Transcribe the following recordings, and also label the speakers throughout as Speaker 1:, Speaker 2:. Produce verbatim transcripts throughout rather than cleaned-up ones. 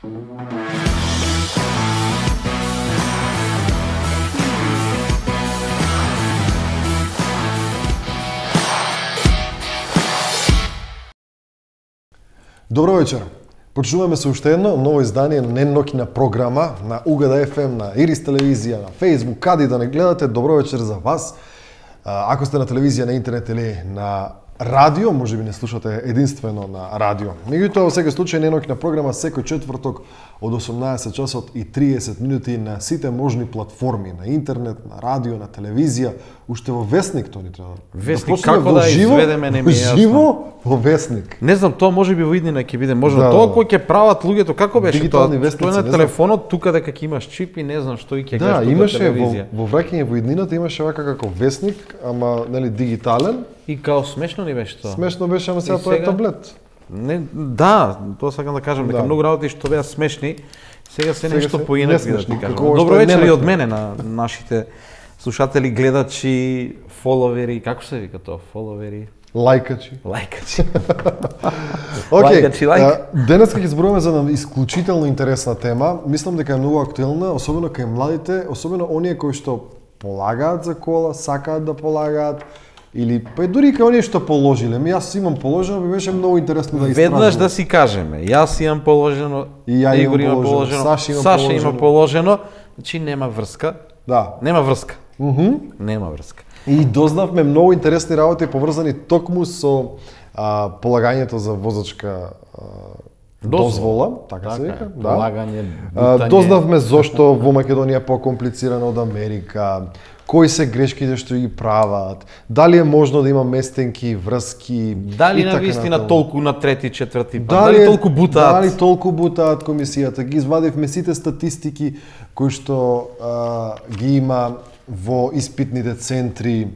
Speaker 1: Добро вечер. Почнуваме со уште едно ново издание на неноќна програма на Угада еф ем, на Ирис телевизија, на Facebook, каде да не гледате. Добро вечер за вас. Ако сте на телевизија, на интернет или на радио, може би не слушате единствено на радио. Меѓутоа, во секој случај, неноќна програма секој четврток од осумнаесет часот и триесет минути на сите можни платформи, на интернет, на радио, на телевизија, уште во Весник тоа ни треба.
Speaker 2: Весник, да како да изведеме, не ми е јасно.
Speaker 1: Живо во Весник.
Speaker 2: Не знам, тоа може би во иднина ќе биде, може
Speaker 1: да,
Speaker 2: тоа кој ќе прават луѓето, како беше тоа?
Speaker 1: Вестници,
Speaker 2: тоа на телефонот, тука дека ќе имаш чип и не знам што и ќе
Speaker 1: да,
Speaker 2: гледаш
Speaker 1: имаше
Speaker 2: телевизија.
Speaker 1: Во, во враќање во иднината имаше вака како Весник, ама нели дигитален.
Speaker 2: И као смешно ни беше тоа.
Speaker 1: Смешно беше, ама сега тоа е таблет.
Speaker 2: Не, да, тоа сакам да кажам, дека
Speaker 1: да.
Speaker 2: многу работи што беа смешни, сега се нешто поинаку да ти кажам.
Speaker 1: Како
Speaker 2: Добро вечер и од мене на нашите слушатели, гледачи, фоловери, како се вика тоа? Фоловери?
Speaker 1: Лајкачи.
Speaker 2: Лајкачи.
Speaker 1: Океј,
Speaker 2: Лајкачи, лајк.
Speaker 1: денес ќе зборуваме за една исклучително интересна тема. Мислам дека е многу актуелна, особено кај младите, особено оние кои што полагаат за кола, сакаат да полагаат, или па дури и кај оние што положиле. Ми јас имам положено, би беше многу интересно да истражувам.
Speaker 2: Веднаш да си кажеме, јас имам положено,
Speaker 1: и ја
Speaker 2: Игор
Speaker 1: имам
Speaker 2: има
Speaker 1: положено,
Speaker 2: положено,
Speaker 1: Саша има
Speaker 2: Саша
Speaker 1: положено.
Speaker 2: има положено, значи нема врска.
Speaker 1: Да.
Speaker 2: Нема врска.
Speaker 1: Мхм.
Speaker 2: Нема врска.
Speaker 1: И дознавме многу интересни работи поврзани токму со а, полагањето за возачка а, дозвола, дозвола, така, така се вика, да.
Speaker 2: Полагање,
Speaker 1: А, дознавме зошто во Македонија е покомплицирано од Америка, кои се грешките што ги прават, дали е можно да има местенки, врски,
Speaker 2: Дали
Speaker 1: и така
Speaker 2: навистина
Speaker 1: натаму.
Speaker 2: толку на трети, четврти пат,
Speaker 1: Дали,
Speaker 2: дали толку бутаат?
Speaker 1: Дали толку бутаат комисијата, ги извадивме сите статистики кои што а, ги има во испитните центри.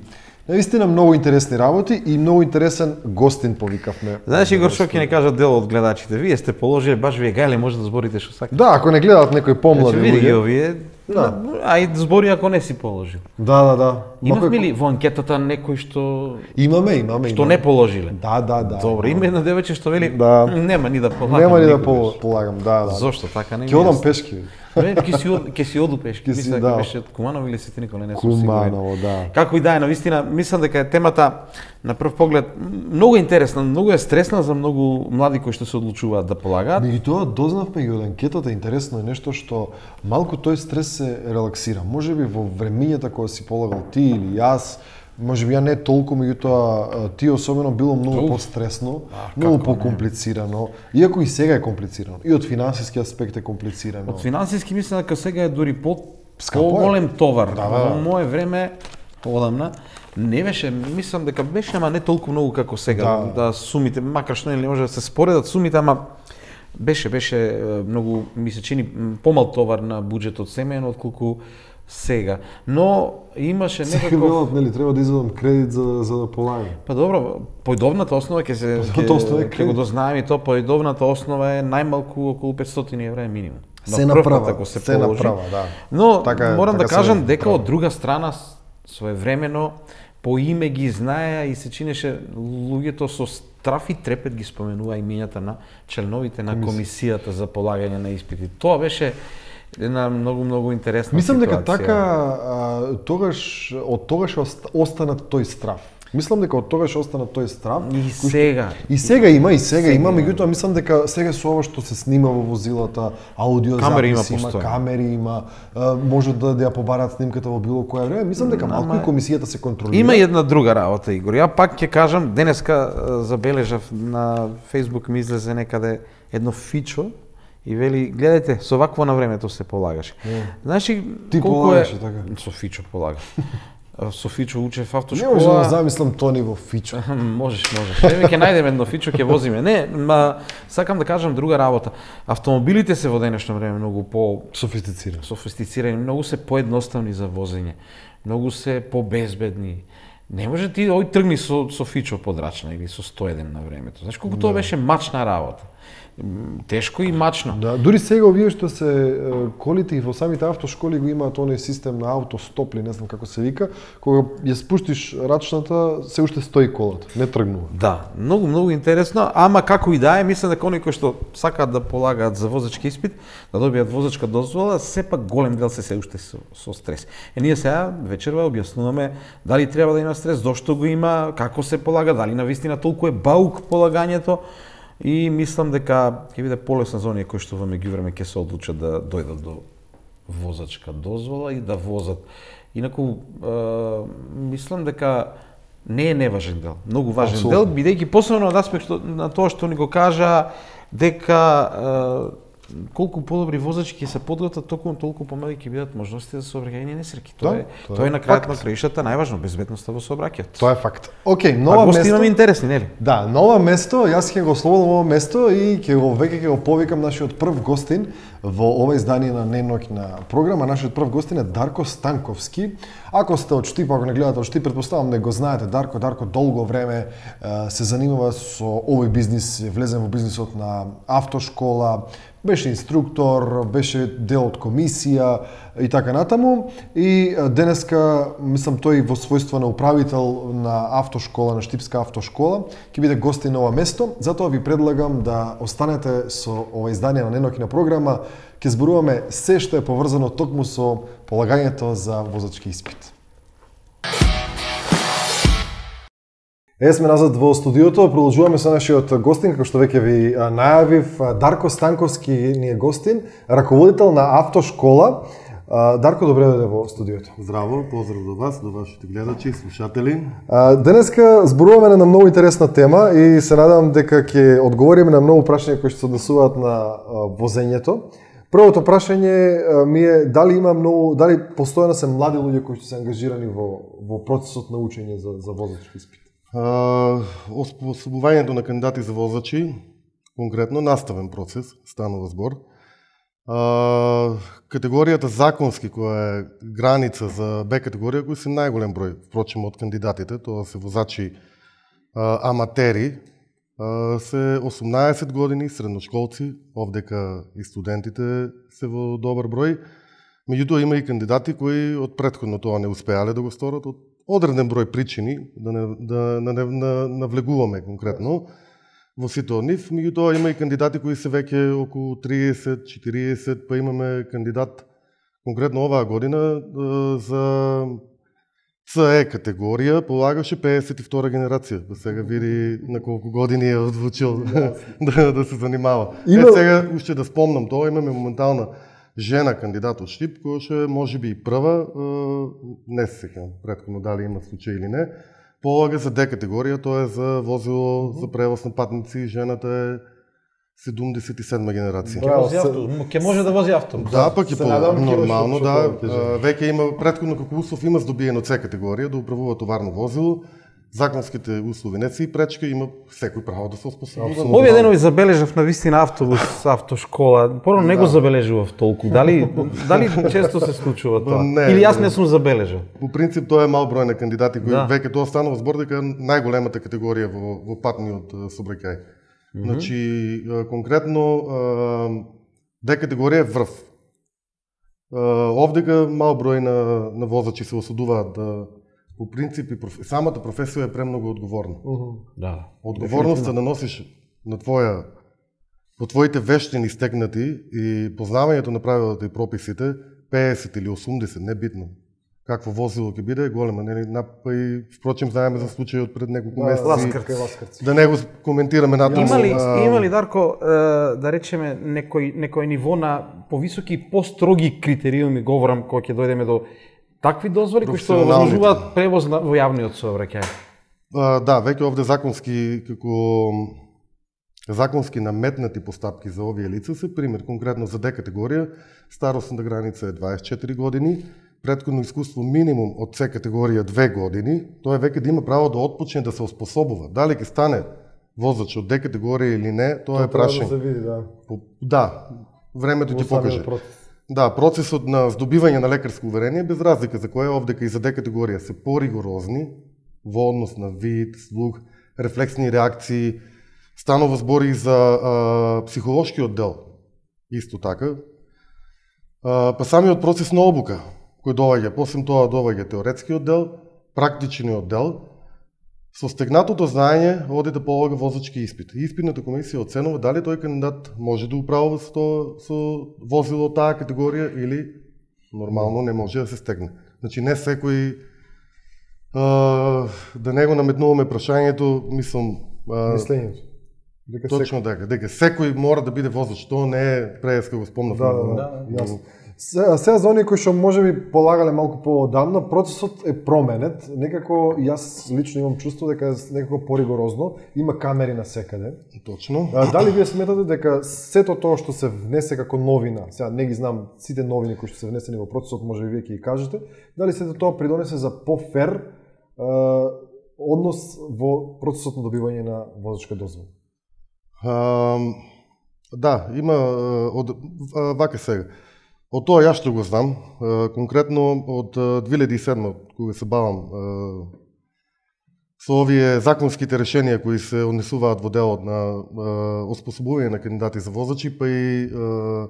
Speaker 1: Навистина многу интересни работи и многу интересен гостин повикавме.
Speaker 2: Знаеш, Игор, што ќе не кажат дел од гледачите? Вие сте положили баш вие гајле, може да зборите што сакате.
Speaker 1: Да, ако не гледаат некои помлади
Speaker 2: Значи, види ги
Speaker 1: луѓе.
Speaker 2: овие,
Speaker 1: Да.
Speaker 2: ај збори ако не си положил.
Speaker 1: Да, да, да.
Speaker 2: Имавме ли во анкетата некој што
Speaker 1: Имаме, имаме,
Speaker 2: што
Speaker 1: имаме.
Speaker 2: не положиле?
Speaker 1: Да, да, да.
Speaker 2: Добро, има едно девојче што вели,
Speaker 1: Да.
Speaker 2: нема ни да полагам.
Speaker 1: Нема ни да
Speaker 2: никогаш.
Speaker 1: пол- полагам, да, да.
Speaker 2: Зошто така не ми
Speaker 1: Ќе одам
Speaker 2: јасно.
Speaker 1: пешки.
Speaker 2: Не, ќе си од, ќе си оду пешки.
Speaker 1: Ќе си,
Speaker 2: Мисля
Speaker 1: да.
Speaker 2: дека беше од Куманово или Сетинико, не, не сум сигурен.
Speaker 1: Куманово, да.
Speaker 2: Како и да е, навистина, мислам дека е темата на прв поглед многу интересна, многу е стресна за многу млади кои што се одлучуваат да полагаат.
Speaker 1: Меѓутоа дознавме и од анкетата, интересно е нешто што малку тој стрес се релаксира. Можеби во времињата кога си полагал ти или јас, можеби ја не толку, меѓутоа ти особено било многу
Speaker 2: Уф.
Speaker 1: постресно,
Speaker 2: А,
Speaker 1: многу
Speaker 2: како не?
Speaker 1: покомплицирано, иако и сега е комплицирано. И од финансиски аспект е комплицирано.
Speaker 2: Од финансиски мислам дека сега е дури по
Speaker 1: Скапо е.
Speaker 2: по-голем товар.
Speaker 1: Да, да.
Speaker 2: Во мое време, одамна, не беше, мислам дека беше, ама не толку многу како сега,
Speaker 1: Да.
Speaker 2: да, сумите, макар што не може да се споредат сумите, ама беше, беше е, многу, ми се чини, м, помал товар на буџетот семејно, отколку сега. Но имаше
Speaker 1: Сега
Speaker 2: некаков...
Speaker 1: велат, нели, треба да извадам кредит за, за да полагам.
Speaker 2: Па добро, појдовната основа ќе се
Speaker 1: Појдовната основа е
Speaker 2: ќе ќе
Speaker 1: кредит.
Speaker 2: го дознаеме и тоа, појдовната основа е најмалку околу петстотини евра е минимум.
Speaker 1: Се
Speaker 2: На прв
Speaker 1: направа,
Speaker 2: пат ако се
Speaker 1: се
Speaker 2: положи.
Speaker 1: направа, да.
Speaker 2: Но
Speaker 1: Така е,
Speaker 2: морам
Speaker 1: така
Speaker 2: да
Speaker 1: се
Speaker 2: кажам дека
Speaker 1: прави.
Speaker 2: од друга страна с- своевремено по име ги знаеа и се чинеше луѓето со страф и трепет ги споменува имињата на членовите на комисијата за полагање на испити. Тоа беше една многу многу интересна
Speaker 1: Мислам дека
Speaker 2: ситуација.
Speaker 1: така а, тогаш од тогаш ост- остана тој страв. Мислам дека од тогаш остана тој страв.
Speaker 2: И
Speaker 1: кој што-
Speaker 2: сега.
Speaker 1: И сега има, и сега,
Speaker 2: Сега
Speaker 1: има,
Speaker 2: има.
Speaker 1: меѓутоа мислам дека сега со ова што се снима во возилата, аудио
Speaker 2: Камери има
Speaker 1: записи има,
Speaker 2: постојано.
Speaker 1: камери има, а, може да да ја побараат снимката во било кое време. Мислам дека малку и комисијата се контролира.
Speaker 2: Има и една друга работа, Игор. Ја пак ќе кажам, денеска а, забележав на Facebook ми излезе некаде едно фичо и вели, гледајте, со вакво на времето се полагаше. Знаеш ли
Speaker 1: Ти
Speaker 2: колку
Speaker 1: полагаше
Speaker 2: е...
Speaker 1: така?
Speaker 2: Со фичо полагам. Со фичо учев
Speaker 1: Не
Speaker 2: автошкола.
Speaker 1: може да замислам Тони во фичо.
Speaker 2: Можеш, можеш. Еве ќе најдеме едно фичо, ќе возиме. Не, ма сакам да кажам друга работа. Автомобилите се во денешно време многу по
Speaker 1: Софистициран.
Speaker 2: софистицирани, многу се поедноставни за возење, многу се побезбедни. Не може ти ој тргни со со фичо подрачна или со сто еден на времето. Знаеш колку тоа беше мачна работа. тешко и мачно.
Speaker 1: Да, дури сега овие што се е, колите и во самите автошколи го имаат оној систем на автостоп или не знам како се вика, кога ја спуштиш рачната, се уште стои колата, не тргнува.
Speaker 2: Да, многу многу интересно, ама како и да е, мислам дека оние кои што сакаат да полагаат за возачки испит, да добијат возачка дозвола, сепак голем дел се се уште со, со стрес. Е ние сега вечерва објаснуваме дали треба да има стрес, зошто го има, како се полага, дали навистина толку е баук полагањето. И мислам дека ќе биде полесно за оние кои што во меѓувреме ќе се одлучат да дојдат до возачка дозвола и да возат. Инаку е, мислам дека не е неважен дел, многу важен
Speaker 1: Абсолютно.
Speaker 2: дел, бидејќи посебно од аспект на тоа што ни го кажа дека е, колку подобри возачи ќе се подготват, толку толку помали ќе бидат можности за сообраќајни несреќи. Тоа
Speaker 1: Да,
Speaker 2: е
Speaker 1: тоа
Speaker 2: тоа
Speaker 1: е
Speaker 2: е на крајот
Speaker 1: факт.
Speaker 2: на краишата најважно, безбедноста во сообраќајот.
Speaker 1: Тоа е факт. Океј,
Speaker 2: А
Speaker 1: нова
Speaker 2: гости
Speaker 1: место.
Speaker 2: имаме интересни, нели?
Speaker 1: Да, нова место, јас ќе го слободам ово место и ќе го веќе ќе го повикам нашиот прв гостин во ова издание на неноќна програма. Нашиот прв гостин е Дарко Станковски. Ако сте од Штип, ако не гледате од Штип, претпоставам да го знаете Дарко. Дарко долго време е, се занимава со овој бизнис, влезен во бизнисот на автошкола, беше инструктор, беше дел од комисија и така натаму. И е, денеска, мислам, тој во својство на управител на автошкола, на Штипска автошкола, ќе биде гостин на ова место. Затоа ви предлагам да останете со ова издание на неноќна програма. Ќе зборуваме се што е поврзано токму со полагањето за возачки испит. Е, сме назад во студиото, продолжуваме со нашиот гостин, како што веќе ви а, најавив. Дарко Станковски ни е гостин, раководител на автошкола. А, Дарко, добре дојде во студиото.
Speaker 3: Здраво, поздрав до вас, до вашите гледачи и слушатели.
Speaker 1: А, денеска зборуваме на многу интересна тема и се надам дека ќе одговориме на многу прашања кои што се однесуваат на а, возењето. Првото прашање а, ми е дали има многу, дали постојано се млади луѓе кои што се ангажирани во во процесот на учење за за возачки испит.
Speaker 3: А, Освободувањето на кандидати за возачи, конкретно наставен процес, станува збор. А, категоријата законски, која е граница за Б категорија, кои се најголем број, впрочем, од кандидатите, тоа се возачи а, аматери, а, се осумнаесет години, средношколци, овдека и студентите се во добар број. Меѓутоа има и кандидати кои од претходно тоа не успеале да го сторат, од одреден број причини, да не, да не, не навлегуваме конкретно во сите од нив. Меѓутоа има и кандидати кои се веќе околу триесет, четириесет, па имаме кандидат конкретно оваа година за С Е категорија, полагаше пеесет и втора генерација. Да сега види на колку години е одлучил да, да се занимава.
Speaker 1: Има...
Speaker 3: Е, сега уште да спомнам тоа, имаме моментална жена кандидат од Штип, која ше може би и прва, не се сеќавам претходно дали има случај или не, полага за Д категорија, тоа е за возило за превоз на патници, жената е седумдесет и седма генерација.
Speaker 2: Ќе вози авто, ќе може да вози авто.
Speaker 3: Да, пак и
Speaker 1: Се
Speaker 3: по
Speaker 1: надам, ќе
Speaker 3: нормално,
Speaker 1: беше
Speaker 3: да.
Speaker 1: што тоа ќе
Speaker 3: А, Веќе има претходно како услов има здобиено С категорија да управува товарно возило. Законските услови не се и пречка, има секој право да се оспособува.
Speaker 2: Овие денови забележав на вистина автобус, автошкола. Порано не го забележував толку. Дали дали често се случува тоа?
Speaker 3: Не,
Speaker 2: Или јас
Speaker 3: не.
Speaker 2: не сум забележал?
Speaker 3: По принцип тоа е мал број на кандидати кои
Speaker 2: Да.
Speaker 3: веќе тоа станува збор дека е најголемата категорија во во патниот а, сообраќај. Значи а, конкретно а, Д категорија е врв. А, Овдека мал број на на возачи се осудуваат да по принцип и проф... самата професија е премногу одговорна.
Speaker 2: Да.
Speaker 3: Одговорноста да носиш на твоја по твоите вештини стегнати и познавањето на правилата и прописите пеесет или осумдесет, не битно. Какво возило ќе биде е голема, нели? Па и впрочем знаеме за случајот пред неколку месеци.
Speaker 1: Ласкарци.
Speaker 3: Да не го коментираме натаму.
Speaker 2: Има ли,
Speaker 3: а,
Speaker 2: има ли Дарко, е, да речеме, некој, некој ниво на повисоки и построги критериуми, говорам, кога ќе дојдеме до такви дозволи кои што
Speaker 3: Професионалните.
Speaker 2: возможуваат превоз на, во јавниот сообраќај?
Speaker 3: А, да, веќе овде законски како законски наметнати постапки за овие лица се пример конкретно за Д категорија, старосната граница е дваесет и четири години, претходно искуство минимум од С категорија две години, тоа е веќе да има право да отпочне да се оспособува. Дали ќе стане возач од Д категорија или не, тоа е прашање.
Speaker 1: Да се види, да.
Speaker 3: По- Да, времето ќе
Speaker 1: Во самиот
Speaker 3: покаже.
Speaker 1: процес.
Speaker 3: Да, процесот на здобивање на лекарско уверение, без разлика за која овдека и за Д категорија се поригорозни во однос на вид, слух, рефлексни реакции, Станува збор и за а, психолошкиот дел, исто така. А, па самиот процес на обука, кој доаѓа, посебно тоа доаѓа теоретскиот дел, практичниот дел. Со стегнатото знаење оди да полага возачки испит. Испитната комисија оценува дали тој кандидат може да управува со, со возило таа категорија или нормално не може да се стегне. Значи не секој а, да не го наметнуваме прашањето, мислам, а,
Speaker 1: Мислењето. Дека
Speaker 3: точно дека, дека секој мора да биде возач, тоа не е преска го спомнав.
Speaker 1: Да, да, да, јасно. Се- Сега за оние кои што може би полагале малку поодамна, процесот е променет. Некако јас лично имам чувство дека е некако поригорозно, има камери на секаде.
Speaker 3: Точно.
Speaker 1: А, дали вие сметате дека сето тоа што се внесе како новина, сега не ги знам сите новини кои што се внесени во процесот, може би вие ќе ги кажете, дали сето тоа придонесе за пофер е, однос во процесот на добивање на возачка дозвола?
Speaker 3: А, да, има а, од а, вака сега. Од тоа јас што го знам, а, конкретно од а, две илјади и седма, кога се бавам а, со овие законските решенија кои се однесуваат во делот на а, оспособување на кандидати за возачи, па и а,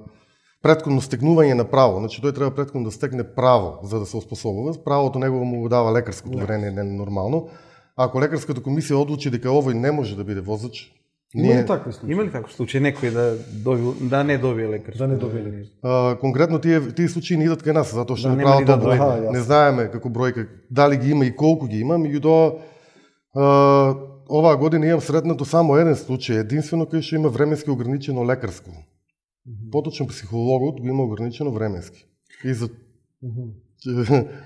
Speaker 3: претходно стегнување на право. Значи тој треба претходно да стегне право за да се оспособува. Правото негово му го дава лекарското уверение, не е нормално. Ако лекарската комисија одлучи дека овој не може да биде возач,
Speaker 1: Има ли такви случаи?
Speaker 2: Има ли таков случај некој да добил, да не добие лекарско?
Speaker 1: Да не добие лекарско.
Speaker 3: А, конкретно тие тие случаи не идат кај нас затоа што
Speaker 2: Да,
Speaker 3: не
Speaker 2: нема
Speaker 3: прават
Speaker 2: ни да
Speaker 3: обука.
Speaker 1: дојде. Аха,
Speaker 3: Не
Speaker 1: јасно.
Speaker 3: знаеме како бројка дали ги има и колку ги има, меѓутоа а, оваа година имам сретнато само еден случај, единствено кај што има временски ограничено лекарско. Поточно психологот го има ограничено временски. И за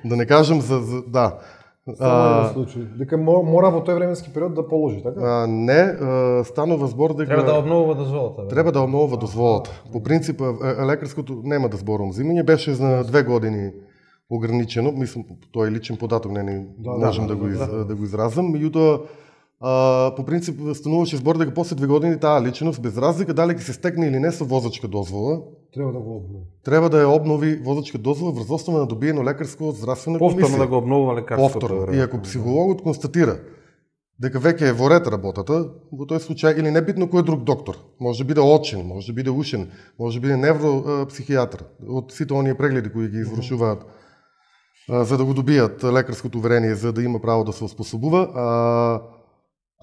Speaker 3: да не кажам за, за да.
Speaker 1: Само еден случај. Дека мо- мора во тој временски период да положи, така?
Speaker 3: А, не, а, станува збор дека
Speaker 2: Треба да обновува дозволата. бе.
Speaker 3: треба да обновува дозволата. По принцип, е, лекарското нема да зборувам земјање, беше за две години ограничено, мислам, тоа е личен податок, не, не
Speaker 1: Да,
Speaker 3: можам
Speaker 1: да,
Speaker 3: да, го из,
Speaker 1: да.
Speaker 3: да го изразам, меѓутоа а, по принцип стануваше збор дека после две години таа личност, без разлика дали ќе се стекне или не со возачка дозвола,
Speaker 1: Треба да го обнови.
Speaker 3: треба да ја обнови возачка дозвола врз основа на добиено лекарско од здравствена
Speaker 2: Повторно
Speaker 3: комисија.
Speaker 2: да го обновува лекарството.
Speaker 3: Повторно.
Speaker 2: веројатно.
Speaker 3: И ако психологот констатира дека веќе е во ред работата, во тој случај, или небитно кој друг доктор, може да биде очен, може да биде ушен, може да биде невропсихијатар, од сите оние прегледи кои ги извршуваат а, за да го добијат лекарското уверение, за да има право да се оспособува, а,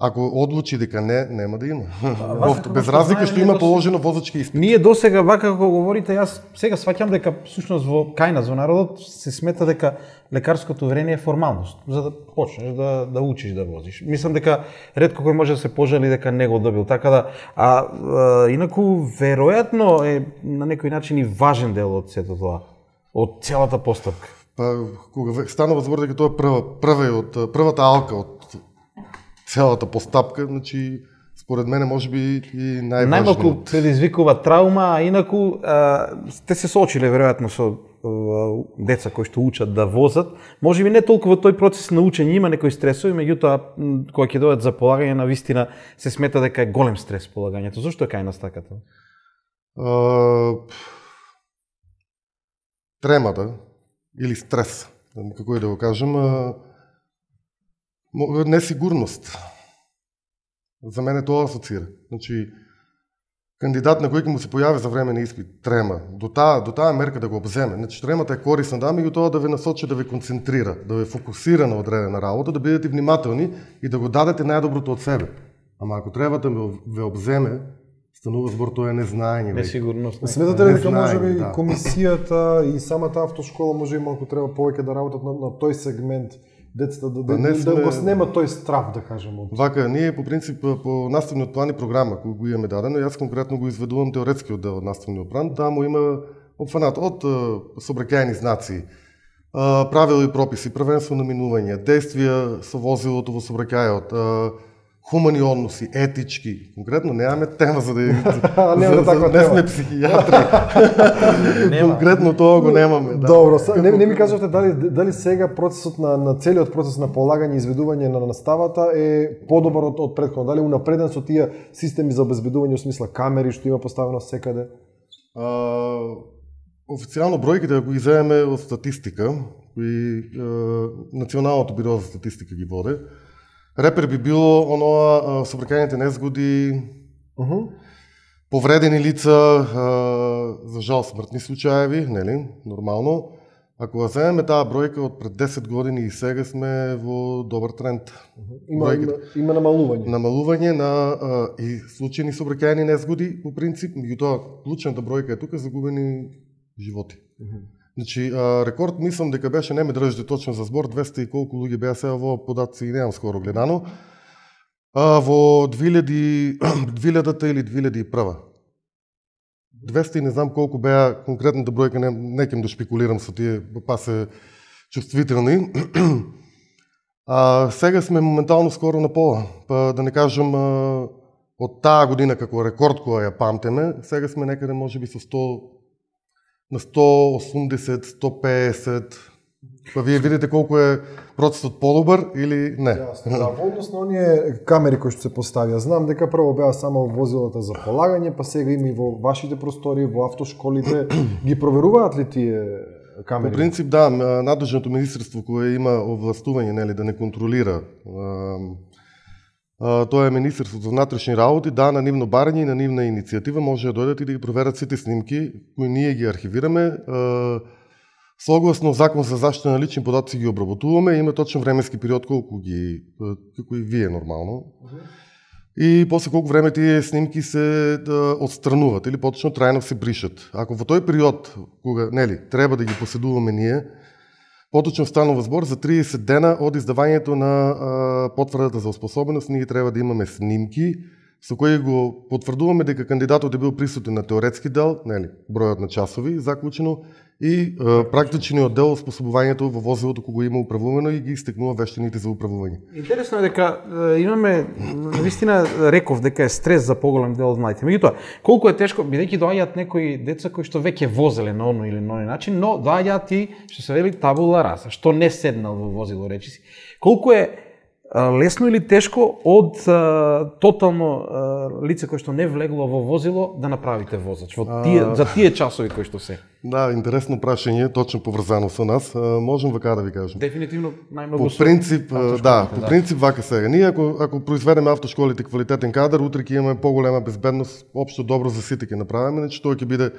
Speaker 3: ако одлучи дека не, нема да има.
Speaker 2: вака
Speaker 3: Без
Speaker 2: како
Speaker 3: разлика
Speaker 2: знаеме,
Speaker 3: што
Speaker 2: ние
Speaker 3: има
Speaker 2: дос-
Speaker 3: положено возачки испит.
Speaker 2: Ние досега вака како говорите, јас сега сваќам дека всушност во кај нас во народот се смета дека лекарското уверение е формалност за да почнеш да да учиш да возиш. Мислам дека ретко кој може да се пожали дека не го добил. Така да а, а инаку веројатно е на некој начин и важен дел од сето тоа, од целата постапка.
Speaker 3: Па кога ве- станува збор дека тоа е прва прва од првата алка од целата постапка, значи според мене можеби и најважно.
Speaker 2: Најмалку предизвикува траума, а инаку а, те се соочиле веројатно со а, деца кои што учат да возат. Можеби не толку во тој процес на учење има некои стресови, меѓутоа м, кога ќе дојдат за полагање на вистина се смета дека е голем стрес полагањето. Зошто е кај нас така тоа?
Speaker 3: А, тремата или стрес, како и да го кажем, а, мо- несигурност. За мене тоа асоцира. Значи, кандидат на кој ќе му се појави за време на испит, трема, до таа, до таа мерка да го обземе. Значи, тремата е корисна, да, меѓутоа да ве насочи, да ве концентрира, да ве фокусира на одредена работа, да бидете внимателни и да го дадете најдоброто од себе. Ама ако треба да ве обземе, станува збор тоа е незнаење. веќе.
Speaker 2: Несигурност.
Speaker 1: Сметате ли
Speaker 3: Не
Speaker 1: дека
Speaker 3: знаеме,
Speaker 1: може би
Speaker 3: да.
Speaker 1: комисијата и самата автошкола може и малку треба повеќе да работат на, на тој сегмент, децата да, да,
Speaker 3: Па не
Speaker 1: да,
Speaker 3: сме-
Speaker 1: да го снема тој страв, да кажем, од
Speaker 3: Вака, ние по принцип по наставниот план и програма кој го имаме дадено, јас конкретно го изведувам теоретскиот дел од наставниот план, таму има опфанат од сообраќајни знаци, а, правила и прописи, првенство на минување, действија со возилото во сообраќајот, а, хумани односи, етички. Конкретно немаме тема за да
Speaker 1: Немаме
Speaker 3: за,
Speaker 1: таква
Speaker 3: за, не
Speaker 1: тема.
Speaker 3: сме психијатри. Конкретно тоа го немаме, да.
Speaker 1: Добро, са, не, не ми кажавте дали дали сега процесот на на целиот процес на полагање и изведување на наставата е подобар од, од претходно, дали е унапреден со тие системи за обезбедување, во смисла камери што има поставено секаде?
Speaker 3: А, официјално бројките, ако ги земеме од статистика, кои а, Националното биро за статистика ги воде, Репер би било оноа собракајните незгоди,
Speaker 1: Мгм.
Speaker 3: повредени лица, а, за жал смртни случаеви, нели, нормално. Ако ја земеме таа бројка од пред десет години и сега сме во добар тренд.
Speaker 1: Има, има, има намалување.
Speaker 3: Намалување на а, и случајни сообраќајни незгоди по принцип, меѓутоа клучната бројка е тука загубени животи.
Speaker 1: Мгм.
Speaker 3: Значи, а, рекорд мислам дека беше, не ме држите точно за збор, двеста и колку луѓе беа сега во податци и немам скоро гледано. А, во две илјади двилјадата или две илјади и прва. двеста и не знам колку беа конкретната бројка, не, не ќам да шпекулирам со тие, па се чувствителни. А, сега сме моментално скоро на пола, па да не кажам а, од таа година како рекорд која ја памтеме, сега сме некаде можеби со сто на сто осумдесет, сто песет. Па вие видите колку е процесот подобар или не?
Speaker 1: Јасно, да, во однос на оние камери кои што се поставија, знам дека прво беа само возилата за полагање, па сега има и во вашите простори, во автошколите, ги проверуваат ли тие камери?
Speaker 3: По принцип да, надлежното министерство кое има овластување, нели, да не контролира, а, а, тоа е Министерството за внатрешни работи, да, на нивно барање и на нивна иницијатива може да дојдат и да ги проверат сите снимки кои ние ги архивираме. А, Согласно Закон за заштита на лични податци ги обработуваме, има точен временски период колку ги, како и вие нормално. И после колку време тие снимки се да, отстрануват или поточно трајно се бришат. Ако во тој период, кога, нели, треба да ги поседуваме ние, поточно станува збор за триесет дена од издавањето на а, потврдата заоспособеност, ние треба да имаме снимки со кои го потврдуваме дека кандидатот е бил присутен на теоретски дел, нели, бројот на часови заклучено, и а, практичниот дел способувањето во возилото кога го има управувано и ги истекнува вештините за управување.
Speaker 2: Интересно е дека е, имаме, навистина реков дека е стрес за поголем дел од младите. Меѓутоа, колку е тешко, бидејќи доаѓаат некои деца кои што веќе возеле на оној или на оној начин, но доаѓаат и што се вели табула раса, што не седнал во возило, речиси. Колку е лесно или тешко од а, тотално а, лице кое што не влегло во возило да направите возач во тие, за тие часови кои што се?
Speaker 3: Да, интересно прашање, точно поврзано со нас. А, можам вака да ви кажам.
Speaker 2: Дефинитивно најмногу
Speaker 3: По принцип, да, по принцип вака сега. Ние ако ако произведеме автошколите квалитетен кадар, утре ќе имаме поголема безбедност, општо добро за сите ќе направиме, значи тоа ќе биде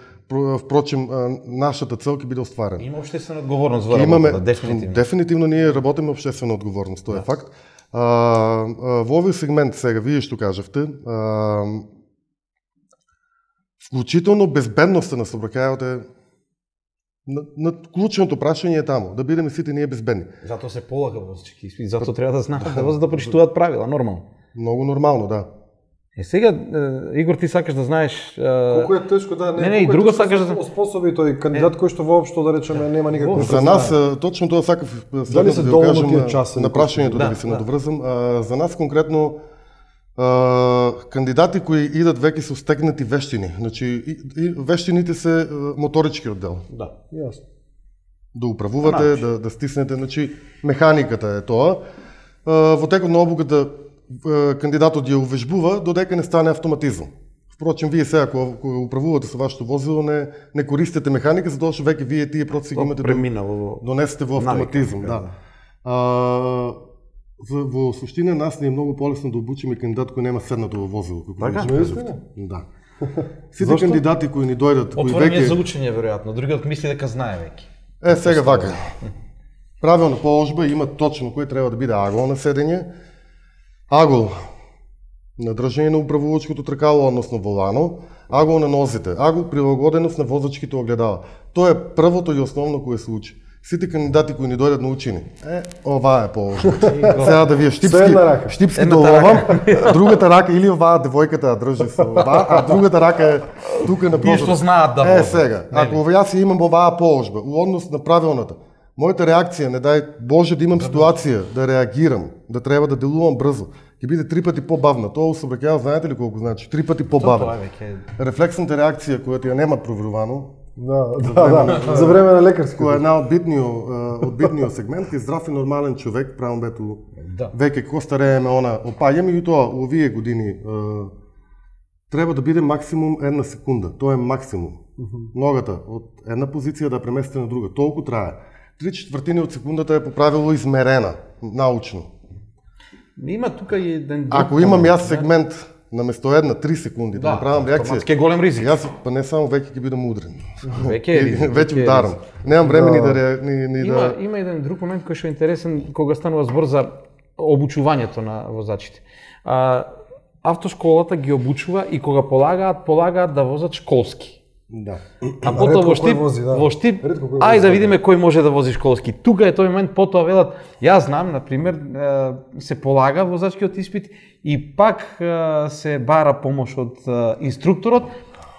Speaker 3: впрочем нашата цел ќе биде остварена.
Speaker 2: Има општествена одговорност во
Speaker 3: работата,
Speaker 2: дефинитивно.
Speaker 3: Дефинитивно ние работиме општествена одговорност, тоа е факт. А, а, во овој сегмент сега, вие што кажавте, а, вклучително безбедноста на сообраќајот е на, на клучното прашање е таму, да бидеме сите ние безбедни.
Speaker 2: Затоа се полага возачки испит, затоа треба да знаат да возат да прочитуваат правила, нормално.
Speaker 3: Многу нормално, да.
Speaker 2: Е сега, Игор, ти сакаш да знаеш...
Speaker 1: Колку е тешко да не,
Speaker 2: не, не и друго сакаш да
Speaker 1: оспособи тој кандидат кој што воопшто да речеме нема никакво.
Speaker 3: За нас точно тоа сакав
Speaker 1: дали се
Speaker 3: да
Speaker 1: доволно
Speaker 3: кажам
Speaker 1: тие часови
Speaker 3: на прашањето да,
Speaker 2: да
Speaker 3: ви се
Speaker 2: да.
Speaker 3: надоврзам. А, за нас конкретно а, кандидати кои идат веќе со стегнати вештини, значи и, и вештините се моторичкиот дел.
Speaker 2: Да,
Speaker 1: Јасно.
Speaker 3: Да управувате, да, да стиснете, значи механиката е тоа. А, во текот на обуката кандидатот ја увежбува додека не стане автоматизм. Впрочем, вие сега ако управувате со вашето возило, не не користите механика, затоа што веќе вие тие процеси ги имате
Speaker 2: преминало
Speaker 3: донесете во автоматизм,
Speaker 2: навика,
Speaker 3: да. А, за, во суштина нас не е многу полесно да обучиме кандидат кој нема седнато во возило, како
Speaker 2: така?
Speaker 3: вие кажавте. Да. Сите кандидати кои ни дојдат, кои
Speaker 2: отворен
Speaker 3: веќе
Speaker 2: е за учење веројатно, другиот мисли дека знае веќе.
Speaker 3: Е, сега вака. Правилна положба има точно кој треба да биде агол на седење. Агол на држање на управувачкото тркало, односно волано, агол на нозите, агол прилагоденост на возачките огледала. Тоа е првото и основно кое се учи. Сите кандидати кои ни дојдат на учени, е, ова е положба. Сега да вие штипски, штипски доловам, другата рака или оваа девојката држи со ова, а другата рака е тука на
Speaker 2: Тие што знаат да
Speaker 3: Е,
Speaker 2: возат.
Speaker 3: сега, ако јас имам оваа положба, у однос на правилната, мојата реакција, не дај Боже да имам ситуација, да реагирам, да треба да делувам брзо, ќе биде три пати побавна. Тоа у сообраќајот знаете ли колку значи? Три пати побавна. Рефлексната реакција која ја немат проверувано,
Speaker 1: да, да, да, за време на лекарски,
Speaker 3: која е една од битниот од битниот сегмент, е здрав и нормален човек, правам бето.
Speaker 2: Да.
Speaker 3: Веќе ко старееме она, опаѓаме и тоа у овие години треба да биде максимум една секунда. Тоа е максимум. Ногата од една позиција да премести на друга. Толку трае. Три четвртини од секундата е по правило измерена научно.
Speaker 2: Има тука и еден друг.
Speaker 3: Ако имам јас сегмент наместо една три секунди да, да направам реакција,
Speaker 2: автоматски е голем ризик.
Speaker 3: Јас па не само веќе ќе бидам удрен.
Speaker 2: Веќе е ризик.
Speaker 3: Веќе ударам. Немам време ни да ни, ни
Speaker 2: има,
Speaker 3: да
Speaker 2: има еден друг момент кој што е интересен кога станува збор за обучувањето на возачите. А, автошколата ги обучува и кога полагаат, полагаат да возат школски.
Speaker 3: Да.
Speaker 2: А потоа во Штип,
Speaker 1: вози, да.
Speaker 2: во Штип,
Speaker 1: ај
Speaker 2: да видиме кој може да вози школски. Тука е тој момент, потоа велат, јас знам, на пример, се полага возачкиот испит и пак се бара помош од инструкторот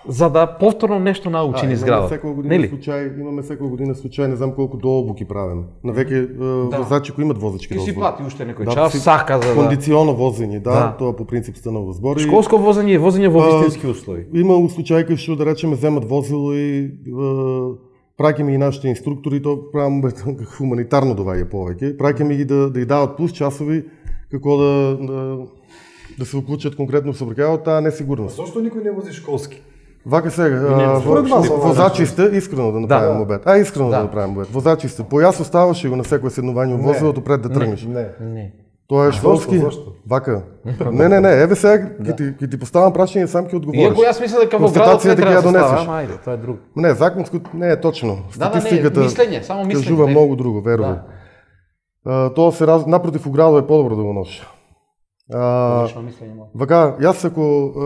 Speaker 2: за да повторно нешто научи низ градот.
Speaker 3: Секоја година случај, имаме секоја година случај, не знам колку дообуки правиме. На веќе да. возачи кои имаат возачки
Speaker 2: дозволи. Ти си плати уште некој
Speaker 3: да,
Speaker 2: час, сака за да...
Speaker 3: Кондиционо возење, да,
Speaker 2: да,
Speaker 3: тоа по принцип станува збор.
Speaker 2: Школско возење е возење во вистински услови.
Speaker 3: Има случаи кои што да речеме земат возило и праќаме и нашите инструктори, тоа правам хуманитарно доваѓа повеќе. Праќаме ги да да ја дават плюс часови како да да, да се уклучат конкретно со сообраќајот, таа несигурност.
Speaker 1: Зошто никој не вози школски?
Speaker 3: Вака сега, возачи сте, искрено да направим да. обед. А, искрено да, да направим обед. Возачи сте, појас оставаше го на секој седнување во возилото пред да тргнеш.
Speaker 1: Не, не.
Speaker 3: Тоа е школски. Зошто? Вака. Не, не, не, еве сега ќе ти ќе ти поставам прашање, сам ќе одговориш.
Speaker 2: Иако јас мислам дека во градот не треба да се става, ама ајде, тоа е друго.
Speaker 3: Не, законско не е точно. Статистиката
Speaker 2: да, да, не, мислење, само мислење.
Speaker 3: Кажува многу друго, верувам. Да. Тоа се раз... напротив у градот е подобро да го носи. А, вака, јас ако а,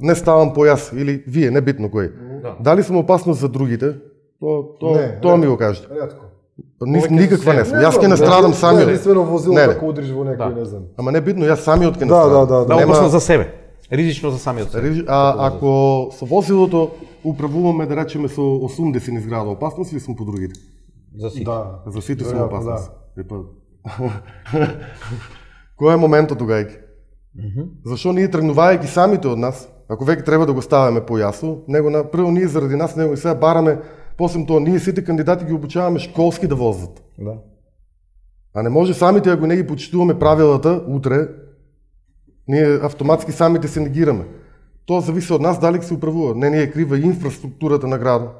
Speaker 3: не ставам појас или вие, не битно кој, да. дали сум опасност за другите, то, то, не, тоа ми го кажете.
Speaker 1: Ретко.
Speaker 3: Ни, никаква не сум. Јас ќе настрадам самиот.
Speaker 1: Единствено возило како удриш во некој, да. не знам.
Speaker 3: Ама не битно, јас самиот ќе
Speaker 1: настрадам.
Speaker 3: Да,
Speaker 1: да, да.
Speaker 2: Да, опасно за себе. Ризично за самиот себе.
Speaker 3: Риж... А ако со возилото управуваме да речеме со осумдесет низ града, опасност ли сум по другите?
Speaker 2: За сите.
Speaker 3: Да. За сите сум опасност. Да. Кој е моментот тугајки? Mm -hmm. Зашо ние тргнувајќи самите од нас, ако веќе треба да го ставаме појасно, него на прво ние заради нас него и сега бараме, после тоа ние сите кандидати ги обучаваме школски да возат.
Speaker 1: Да.
Speaker 3: А не може самите ако не ги почитуваме правилата утре, ние автоматски самите се негираме. Тоа зависи од нас дали се управува. Не ни е крива инфраструктурата на градот.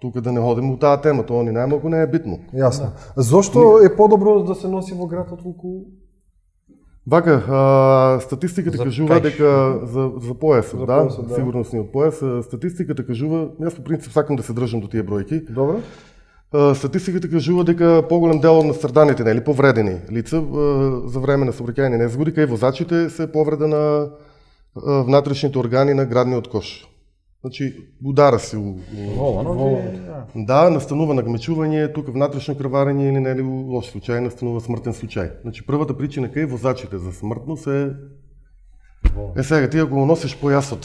Speaker 3: Тука да не ходиме у таа тема, тоа ни најмалку не е битно.
Speaker 1: Јасно. Да. Зошто е подобро да се носи во град отколку
Speaker 3: Вака, а, статистиката за кажува кај, дека за за појасот,
Speaker 1: за
Speaker 3: да,
Speaker 1: појасот, да,
Speaker 3: сигурносниот појас, статистиката кажува, јас по принцип сакам да се држам до тие бројки.
Speaker 1: Добро.
Speaker 3: А, статистиката кажува дека поголем дел од настраданите, нели, повредени лица а, за време на сообраќајни незгоди кај возачите се повреда на а, внатрешните органи на градниот кош. Значи, удара се у...
Speaker 2: Волано,
Speaker 3: да, настанува нагмечување, тука внатрешно крварење или нели лош случај, настанува смртен случај. Значи, првата причина кај возачите за смртност е... Е сега, ти ако го носиш појасот,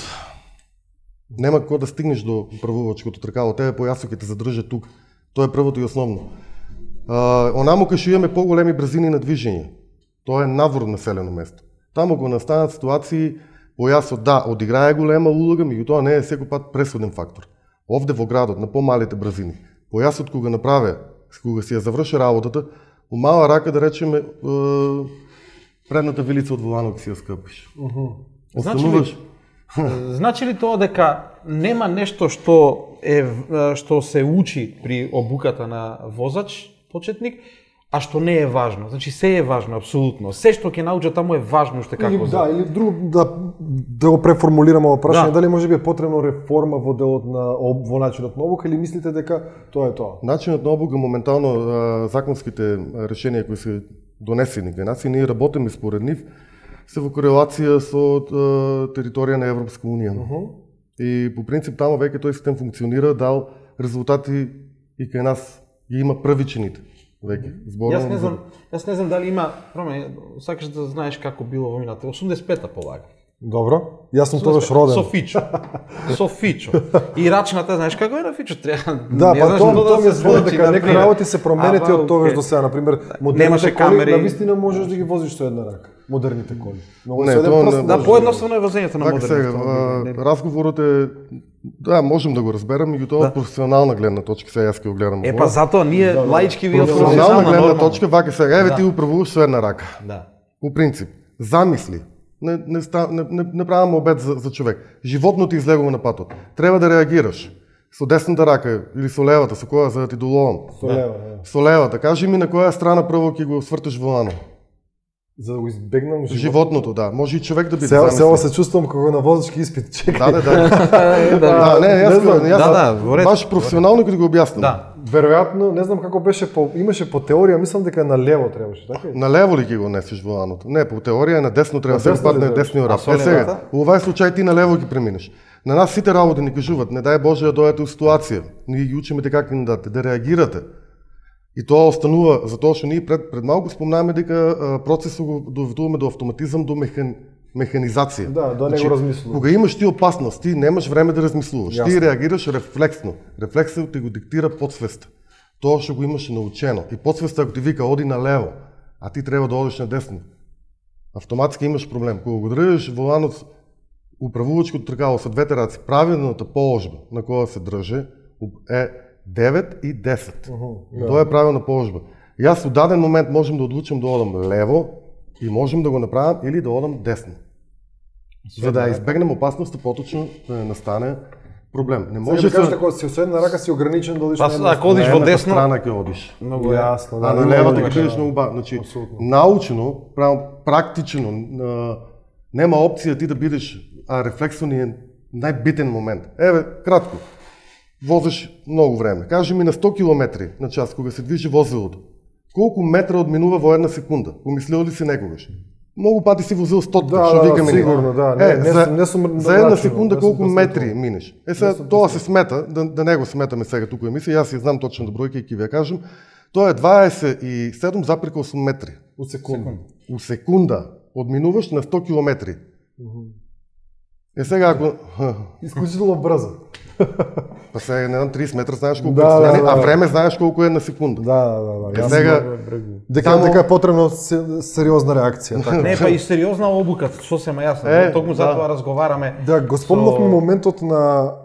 Speaker 3: нема како да стигнеш до правувачкото тркало, тебе појасот ќе те задржа тук. Тоа е првото и основно. А, онамо кај што имаме поголеми брзини на движење, тоа е навор населено место. Таму го настанат ситуации, појасот да, одиграе голема улога, меѓутоа не е секој пат пресуден фактор. Овде во градот, на помалите брзини, појасот кога направи, кога си ја заврши работата, у мала рака да речеме, е, предната вилица од воланот си ја скъпиш.
Speaker 1: Uh -huh.
Speaker 3: Остануваш...
Speaker 2: Значи ли тоа дека нема нешто што е што се учи при обуката на возач, почетник, а што не е важно? Значи се е важно апсолутно. Се што ќе научат таму е важно уште како
Speaker 1: или, да, или друго да да го преформулираме во прашање, да. Дали може би е потребно реформа во делот на во начинот на обука или мислите дека тоа е тоа?
Speaker 3: Начинот на обука моментално законските решенија кои се донесени кај нас и ние работиме според нив се во корелација со територија на Европска унија. Uh -huh. И по принцип таму веќе тој систем функционира, дал резултати и кај нас ги има првичните. Веќе зборувам.
Speaker 2: Јас не знам, јас не знам дали има, проме, сакаш да знаеш како било во минатата. осумдесет и пета полага.
Speaker 1: Добро. Јас сум тогаш роден.
Speaker 2: Со Фичо. Со Фичо. И рачната, знаеш како е на Фичо, треба.
Speaker 1: Да, па тоа тоа ми збор дека некои работи се променети од тогаш до сега, на пример, модерните коли, навистина можеш да ги возиш со една рака. Модерните коли.
Speaker 3: Многу се тоа
Speaker 2: да, поедноставно е возењето на
Speaker 3: модерните. Разговорот е да, можем да го разберам, меѓутоа од професионална гледна точка, сега јас ќе го гледам.
Speaker 2: Е па затоа ние лаички ви од
Speaker 3: професионална гледна точка, вака сега еве ти управуваш со една рака.
Speaker 2: Да.
Speaker 3: По принцип, замисли. Не, не, не, не, не правам обед за, за човек. Животно ти излегува на патот. Треба да реагираш. Со десната рака или со левата, со која за да ти доловам?
Speaker 1: Со лева,
Speaker 3: да. Со левата. Кажи ми на која страна прво ќе го свртеш волано.
Speaker 1: За да го избегнам животното.
Speaker 3: Животното, да. Може и човек да биде.
Speaker 1: Се, се, се чувствувам како на возачки изпит. Чекай.
Speaker 3: Да, да, да. да, не, јас
Speaker 1: знам.
Speaker 3: јас
Speaker 2: Да, да,
Speaker 3: баш професионално ќе го објаснам.
Speaker 2: Да.
Speaker 1: Веројатно, не знам како беше по имаше по теорија, мислам дека на лево требаше, така?
Speaker 3: На лево ли ќе го несеш воланото? Не, по теорија на десно треба да се падне десниот раб. Е сега, во овај случај ти на лево ќе преминеш. На нас сите работи ни кажуваат, не дај Боже да дојдете у ситуација. Ние ги учиме дека кандидатите да реагирате. И тоа останува затоа што ние пред пред малку спомнаваме дека процесот го доведуваме до автоматизам, до механ, механизација.
Speaker 1: Да, да не го размислуваш.
Speaker 3: Кога имаш ти опасност, ти немаш време да размислуваш. Јасно. Ти реагираш рефлексно. Рефлексот ти го диктира подсвеста. Тоа што го имаш научено. И подсвеста ако ти вика оди на лево, а ти треба да одиш на десно, автоматски имаш проблем. Кога го држиш воланот управувачкото тркало со двете раци, правилната положба на која се држи е девет и десет. Uh-huh, да. Тоа е правилна положба. Јас во даден момент можем да одлучам да одам лево и можем да го направам или да одам десно. За да избегнем опасноста поточно да не настане проблем. Не може
Speaker 1: да кажеш дека си со една рака си ограничен да одиш на една.
Speaker 2: Ако одиш во десно,
Speaker 3: страна ќе одиш.
Speaker 1: Многу јасно, да.
Speaker 3: А на левата ќе бидеш многу ба, значи научно, практично нема опција ти да бидеш, а рефлексот ни е најбитен момент. Еве, кратко. Возиш многу време. Кажи ми на сто километри на час кога се движи возилото. Колку метра одминува во една секунда? Помислил ли си некогаш? Многу пати си возил сто,
Speaker 1: да,
Speaker 3: што
Speaker 1: да,
Speaker 3: викаме ние.
Speaker 1: Сигурно, да.
Speaker 3: Е,
Speaker 1: не,
Speaker 3: за,
Speaker 1: не, не сум,
Speaker 3: за една секунда колку
Speaker 1: не
Speaker 3: метри минеш? Е, сега тоа се смета, да, да не го сметаме сега туку емисија, јас ја знам точно бројка и ќе ви ја кажам. Тоа е дваесет и седум запирка осум метри.
Speaker 1: У секунда.
Speaker 3: У секунда одминуваш на сто километри. Uh-huh. Е сега ако
Speaker 1: исклучително брзо.
Speaker 3: Па сега не знам тридесет метра знаеш колку
Speaker 1: да,
Speaker 3: е стојане,
Speaker 1: да, да.
Speaker 3: А време знаеш колку е на секунда.
Speaker 1: Да, да, да.
Speaker 3: Е сега
Speaker 1: дека само... дека е потребно сериозна реакција, така.
Speaker 2: Не, па и сериозна обука, сосема јасно. Е, Токму да. затоа разговараме.
Speaker 1: Да, го спомнавме со... моментот на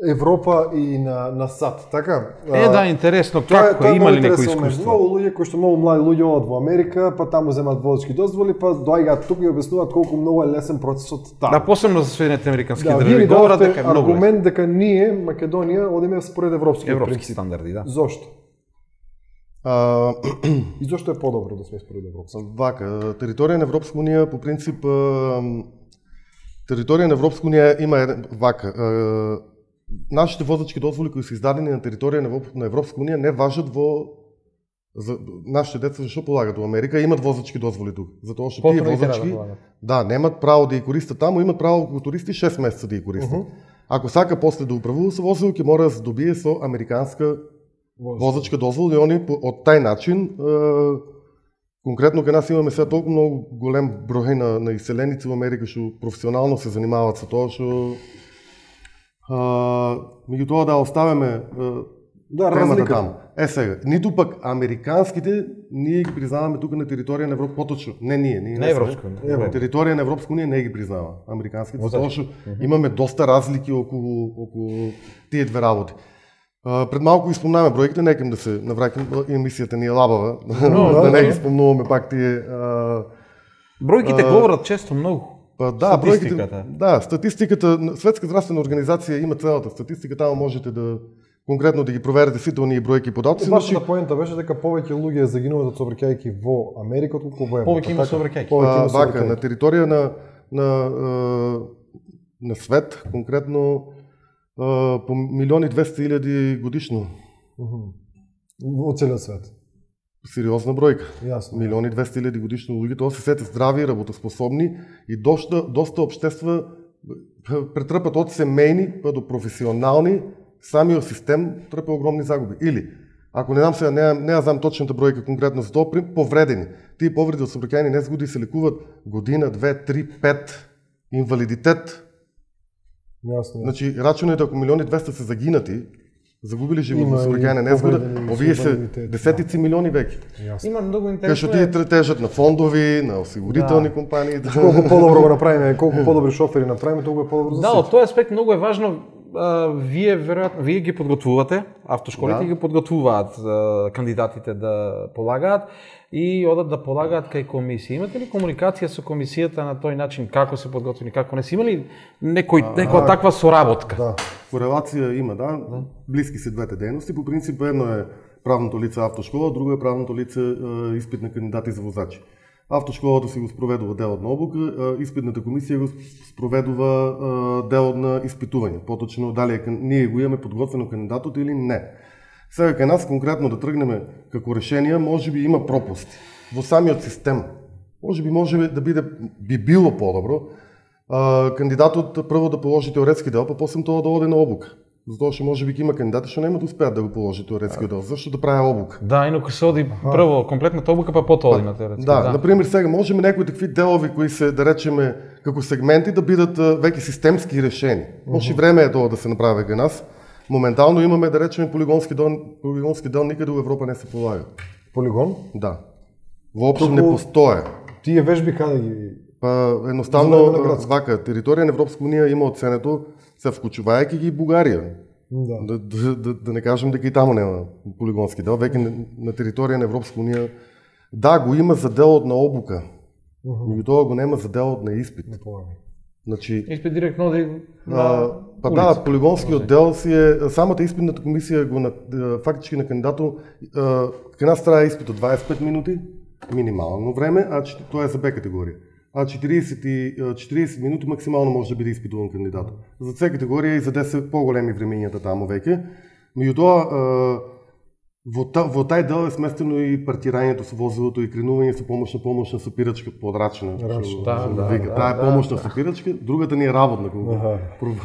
Speaker 1: Европа и на на САД, така?
Speaker 2: Е, да, интересно, како е, има ли некој искуство?
Speaker 1: Многу луѓе кои што многу млади луѓе одат во Америка, па таму земат возачки дозволи, па доаѓаат тука и објаснуваат колку многу е лесен процесот таму.
Speaker 2: Да, посебно за Соединетите американски
Speaker 1: да,
Speaker 2: држави, говорат дека е многу
Speaker 1: аргумент дека ние Македонија одиме според европски
Speaker 2: европски
Speaker 1: принцип.
Speaker 2: стандарди, да.
Speaker 1: Зошто?
Speaker 3: А...
Speaker 1: И зошто е подобро да сме според европски?
Speaker 3: Вака, територија на Европска унија по принцип територија на Европска унија има еден вака. Нашите возачки дозволи кои се издадени на територија на Европска унија не важат во за нашите деца зашто полагат во Америка, имат возачки дозволи тука. Затоа што тие возачки да, немат право да ги користат таму, имат право како туристи шест месеца да ги користат. Uh-huh. Ако сака после да управува со возило, ќе мора да се добие со американска возачка дозвола и они од тај начин е, конкретно кај нас имаме сега толку многу голем број на на иселеници во Америка што професионално се занимаваат со тоа што Uh, меѓутоа да оставиме uh,
Speaker 1: да,
Speaker 3: темата таму. Е сега, ниту пак американските ние ги признаваме тука на територија на Европа, поточно. Не ние, ние
Speaker 2: не Европска.
Speaker 3: На територија на Европска унија не ги признава американските, затоа што имаме доста разлики околу околу тие две работи. Uh, пред малку ги спомнаваме бројките, некам да се навраќам, емисијата ни е лабава, no, да не ги спомнуваме пак тие. Uh,
Speaker 2: Бројките uh, говорат често многу.
Speaker 3: Па да, бројките, да, статистиката, Светска здравствена организација има целата статистика, таму можете да конкретно да ги проверите сите оние бројки и податоци.
Speaker 1: Вашата поента беше дека повеќе луѓе загинуваат од сообраќајки во Америка отколку во Европа.
Speaker 2: Повеќе има сообраќајки.
Speaker 3: А, вака, на територија на на на свет, конкретно по милион и двесте илјади годишно.
Speaker 1: Во целиот свет.
Speaker 3: Сериозна бројка.
Speaker 1: Јасно.
Speaker 3: Милион и двесте илјади годишно луѓе, тоа се сите здрави, работоспособни и доста доста општества претрпат од семејни па до професионални, самиот систем трпе огромни загуби. Или ако не знам сега, не не знам точната бројка конкретно за тоа, повредени. Тие повреди од сообраќајни незгоди се лекуваат година, две, три, пет, инвалидитет.
Speaker 1: Јасно.
Speaker 3: Значи, рачунете ако милион и двесте се загинати, загубили живот во сообраќајна незгода, овие се десетици милиони веќе.
Speaker 2: Има многу интересно.
Speaker 3: Кај што тие тежат на фондови, на осигурителни да. компании.
Speaker 1: Да. Колку подобро го направиме, колку подобри шофери направиме, толку е подобро за
Speaker 2: да, од тој аспект многу е важно. А, вие веројатно вие ги подготвувате, автошколите да. ги подготвуваат а, кандидатите да полагаат и одат да полагаат кај комисија. Имате ли комуникација со комисијата на тој начин како се подготвени, како не се имали некој а, некоја а, таква соработка?
Speaker 3: Да. Корелација има, да. да. Блиски се двете дејности. По принцип едно е правното лице автошкола, друго е правното лице е, испит на кандидати за возачи. Автошколата си го спроведува делот на обука, испитната комисија го спроведува делот на испитување. Поточно дали ние го имаме подготвено кандидатот или не. Сега кај нас конкретно да тргнеме како решение, може би има пропусти во самиот систем. Може би може да биде би било подобро кандидатот прво да положи теоретски дел, па после тоа да оде на обука. Затоа што може би има кандидати што нема да успеат да го положи теоретски дел. Зашто да прави обука?
Speaker 2: Да, инаку се оди прво комплетната обука, па потоа оди на теоретски.
Speaker 3: Да, да, например сега можеме некои такви делови кои се да речеме како сегменти да бидат веќе системски решени. Може mm-hmm. време е тоа да се направи кај нас. Моментално имаме да речеме полигонски дел, полигонски дел никаде во Европа не се полага.
Speaker 1: Полигон?
Speaker 3: Да. Воопшто не постои.
Speaker 1: Тие вежби каде ги?
Speaker 3: Па едноставно вака територија на Европска унија има оценето се вклучувајќи ги Бугарија.
Speaker 1: Да.
Speaker 3: Да, да, да, да не кажем дека и таму нема полигонски дел, веќе на, на територија на Европска унија да го има за делот на обука. Меѓу тоа го нема за делот на испит. Значи
Speaker 2: испит директно оди
Speaker 3: на па да, полигонскиот дел си е самата испитната комисија го на фактички на кандидатот кај нас трае испитот дваесет и пет минути минимално време, а тоа е за Б категорија. А четириесет четириесет минути максимално може да биде испитуван кандидат. За С категорија и за десет поголеми времењата таму веќе. Меѓутоа во, та, во тај дел е сместено и партирањето со возилото и кренување со помошна помошна сопирачка подрачна.
Speaker 2: Да, да,
Speaker 3: вика. Таа е помошна сопирачка, другата ни е работна, кога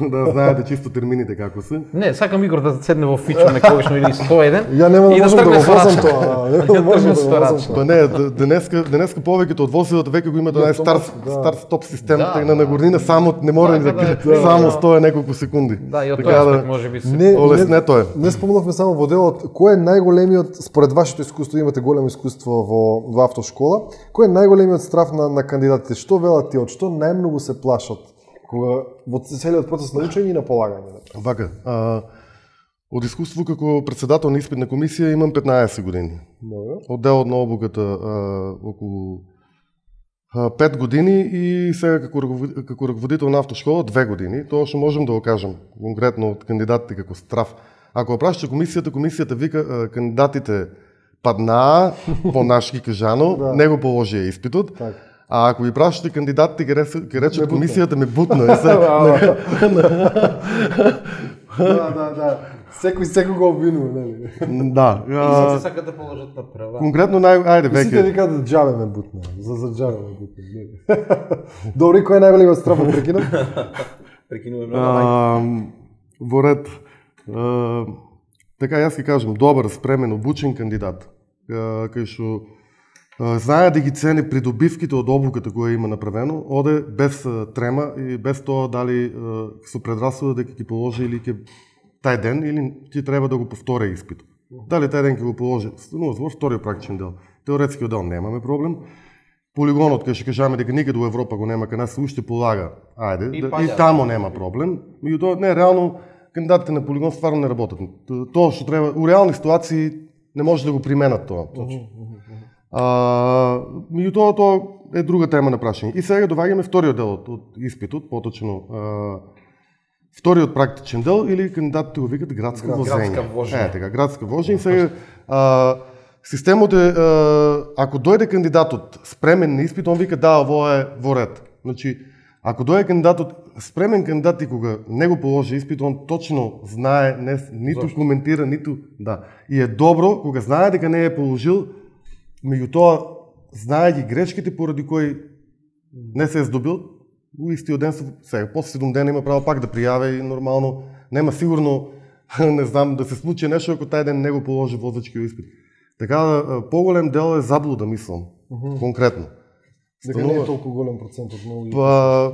Speaker 3: да знаете чисто термините како се.
Speaker 2: Не, сакам Игор да седне во фичо некогаш или сто еден.
Speaker 1: Ја нема да
Speaker 2: и
Speaker 1: можам да го возам
Speaker 2: тоа.
Speaker 1: тоа. Нема можам да го возам тоа.
Speaker 3: Па не, денеска денеска повеќето од возилата веќе го имаат нај стар стар стоп систем, така на горнина само не мора ни да само стои неколку секунди.
Speaker 2: Да, и од тоа аспект можеби се
Speaker 3: олеснето е.
Speaker 1: Не спомнавме само во делот, кој е најголемиот според вашето искуство, имате големо искуство во, во автошкола, кој е најголемиот страф на, на кандидатите? Што велат ти, од што најмногу се плашат кога во целиот процес на учење и на полагање?
Speaker 3: Вака, а, од искуство како председател на испитна комисија имам петнаесет години.
Speaker 1: Добре.
Speaker 3: Од делот на обуката а, околу а, пет години и сега како, како раководител на автошкола две години. Тоа што можем да го кажем конкретно од кандидатите како страф. Ако прашате комисијата, комисијата вика кандидатите паднаа, по-нашки кажано, да. Не го положија испитот. Так. А ако ви прашате кандидатите, ќе речат комисијата ме бутна.
Speaker 1: Да, да, да. Секој секој го обвинува, нели?
Speaker 3: Да.
Speaker 2: И се сакат да положат на права.
Speaker 3: Конкретно нај ајде веќе.
Speaker 1: Сите викаат да џабе ме бутна, за за џабе ме бутна. Добри, кој е најголемиот страф од прекинат?
Speaker 2: Прекинува многу.
Speaker 3: Во ред. Uh, така јас ќе кажам, добар, спремен, обучен кандидат, uh, кај што uh, знае да ги цени придобивките од обуката која има направено, оде без uh, трема и без тоа дали uh, со предрасуда дека ќе положи или ќе тај ден или ќе треба да го повтори испит. Дали тај ден ќе го положи, но во вториот практичен дел. Теоретскиот дел немаме проблем. Полигонот кај што кажаме дека никаде во Европа го нема, кај нас уште полага. Ајде, и, да, и тамо нема проблем. Меѓутоа не реално кандидатите на полигон стварно не работат. Тоа што треба, у реални ситуации не може да го применат тоа. А, меѓутоа тоа е друга тема на прашање. И сега доваѓаме вториот дел од испитот, поточно а, вториот практичен дел или кандидатите го викат градска возење.
Speaker 2: Градска вожење.
Speaker 3: Е, така, градска вожење. Сега а, системот е а, ако дојде кандидатот спремен на испит, он вика да, ово е во ред. Значи, ако дојде кандидатот спремен кандидат и кога не го положи испит, он точно знае, не, ниту Зошто? коментира, ниту да. И е добро кога знае дека не е положил, меѓутоа знае ги грешките поради кои не се е здобил, у истиот ден сега после седум дена има право пак да пријави и нормално нема сигурно не знам да се случи нешто ако тај ден не го положи возачкиот испит. Така поголем дел е заблуда, мислам, uh-huh. конкретно.
Speaker 1: Дека не е толку голем процент од многу
Speaker 3: па,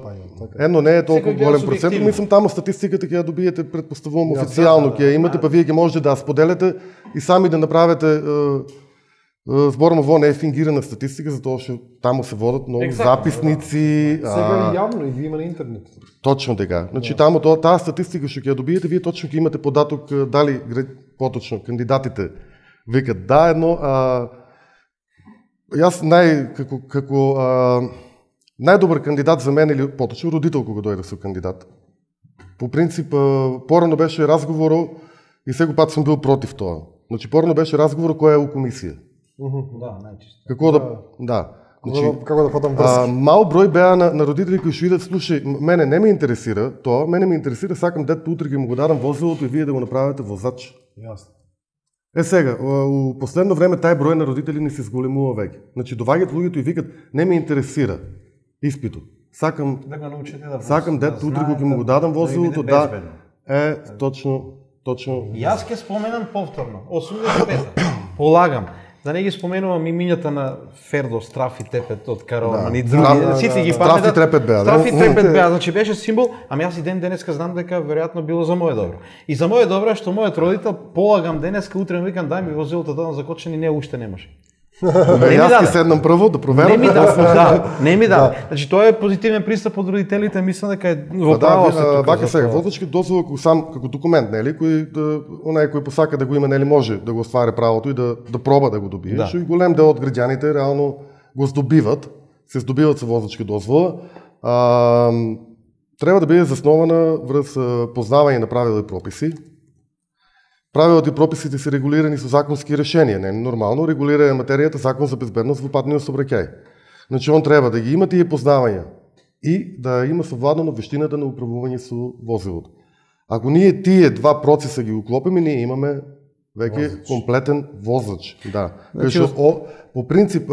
Speaker 3: едно не е толку голем процент, мислам таму статистиката ќе ја добиете, предпоставувам
Speaker 1: ja,
Speaker 3: официјално ќе ја имате,
Speaker 2: да.
Speaker 3: па вие ќе можете да ја споделите и сами да направите зборно во не е фингирана статистика, затоа што таму се водат многу Exactly, записници.
Speaker 1: Да. Сега и јавно и ги има на интернет.
Speaker 3: Точно така. Значи yeah. таму тоа таа статистика што ќе ја добиете, вие точно ќе имате податок дали поточно кандидатите викат да едно, а јас нај како како а, најдобар кандидат за мене или поточно родител кога дојде со кандидат. По принцип порано беше разговорот и сега пат сум бил против тоа. Значи порано беше разговорот која е у комисија.
Speaker 2: Да, најчисто.
Speaker 3: Како да, да. Значи,
Speaker 1: како да фатам
Speaker 3: а,
Speaker 1: врски?
Speaker 3: мал број беа на, на родители кои што идат, слушај, мене не ме интересира тоа, мене ме интересира, сакам дете утре ги му го дадам возилото и вие да го направите возач.
Speaker 1: Јасно.
Speaker 3: Е сега, у последно време тај број на родители ни се зголемува веќе. Значи доваѓаат луѓето и викат не ме интересира испитот. Сакам
Speaker 2: Да го научите да
Speaker 3: сакам дете утре кога му го дадам возилото, да е точно точно.
Speaker 2: Јас ќе споменам повторно, осумдесет и пета. Полагам. Да не ги споменувам имињата на Фердо, Страф и Тепет од Караван и други.
Speaker 3: Да,
Speaker 2: Сите ги
Speaker 3: Страф и Трепет беа, да.
Speaker 2: Страф и Трепет беа, значи беше символ, ами јас и ден денеска знам дека веројатно било за моје добро. И за моје добро е што мојот родител полагам денеска утре ми викам дај ми возилото да закочен и не уште немаше.
Speaker 3: Јас ќе седнам прво да проверам.
Speaker 2: Не ми да, да, не ми да. Значи тоа е позитивен пристап од родителите, мислам дека е во право се тука.
Speaker 3: Вака сега, возачки дозвола како сам како документ, нели, кој да онај кој посака да го има, нели, може да го оствари правото и да да проба да го добие.
Speaker 2: Да.
Speaker 3: Што и голем дел од граѓаните реално го здобиват, се здобиват со возачки дозвола. А, треба да биде заснована врз познавање на правила и прописи. Правилата и прописите се регулирани со законски решенија, не е нормално, регулира материјата Закон за безбедност во патниот сообраќај. Значи он треба да ги има тие познавања и да има совладано вештината на управување со возилото. Ако ние тие два процеса ги уклопиме, ние имаме веќе возач. Комплетен возач, да. Значи, Кај што по принцип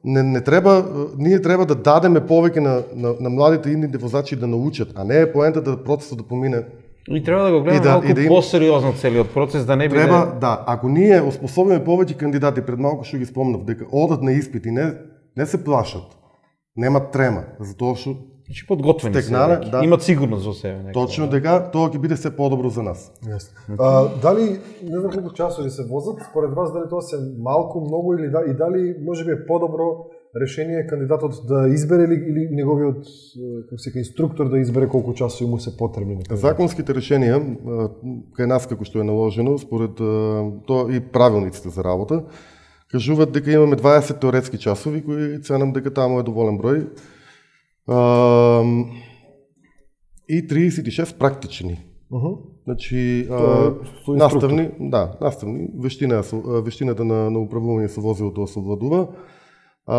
Speaker 3: не не треба ние треба да дадеме повеќе на на, на младите идните возачи да научат, а не е поентата да процесот да помине.
Speaker 2: И треба да го гледаме
Speaker 3: да,
Speaker 2: малку
Speaker 3: да им...
Speaker 2: посериозно целиот процес, да не биде...
Speaker 3: Треба, да, ако ние оспособиме повеќе кандидати, пред малку што ги спомнав, дека одат на испит и не, не се плашат, немат трема, затоа што...
Speaker 2: Значи подготвени
Speaker 3: стекнале,
Speaker 2: се,
Speaker 3: да.
Speaker 2: Имат сигурност во себе. Некој,
Speaker 3: Точно
Speaker 2: да.
Speaker 3: дека, тоа ќе биде се подобро за нас.
Speaker 1: Јасно. А, дали, не знам колку часови се возат, според вас дали тоа се малку, многу или да, и дали можеби е подобро решение кандидатот да избере или, или неговиот како се инструктор да избере колку часови му се потребни?
Speaker 3: Законските решенија кај нас како што е наложено според тоа и правилниците за работа кажуваат дека имаме дваесет теоретски часови кои ценам дека таму е доволен број. И триесет и шест практични.
Speaker 1: Uh -huh.
Speaker 3: Значи,
Speaker 1: а,
Speaker 3: наставни, да, наставни, вештина, вештината на, на управување со возилото се овладува. А,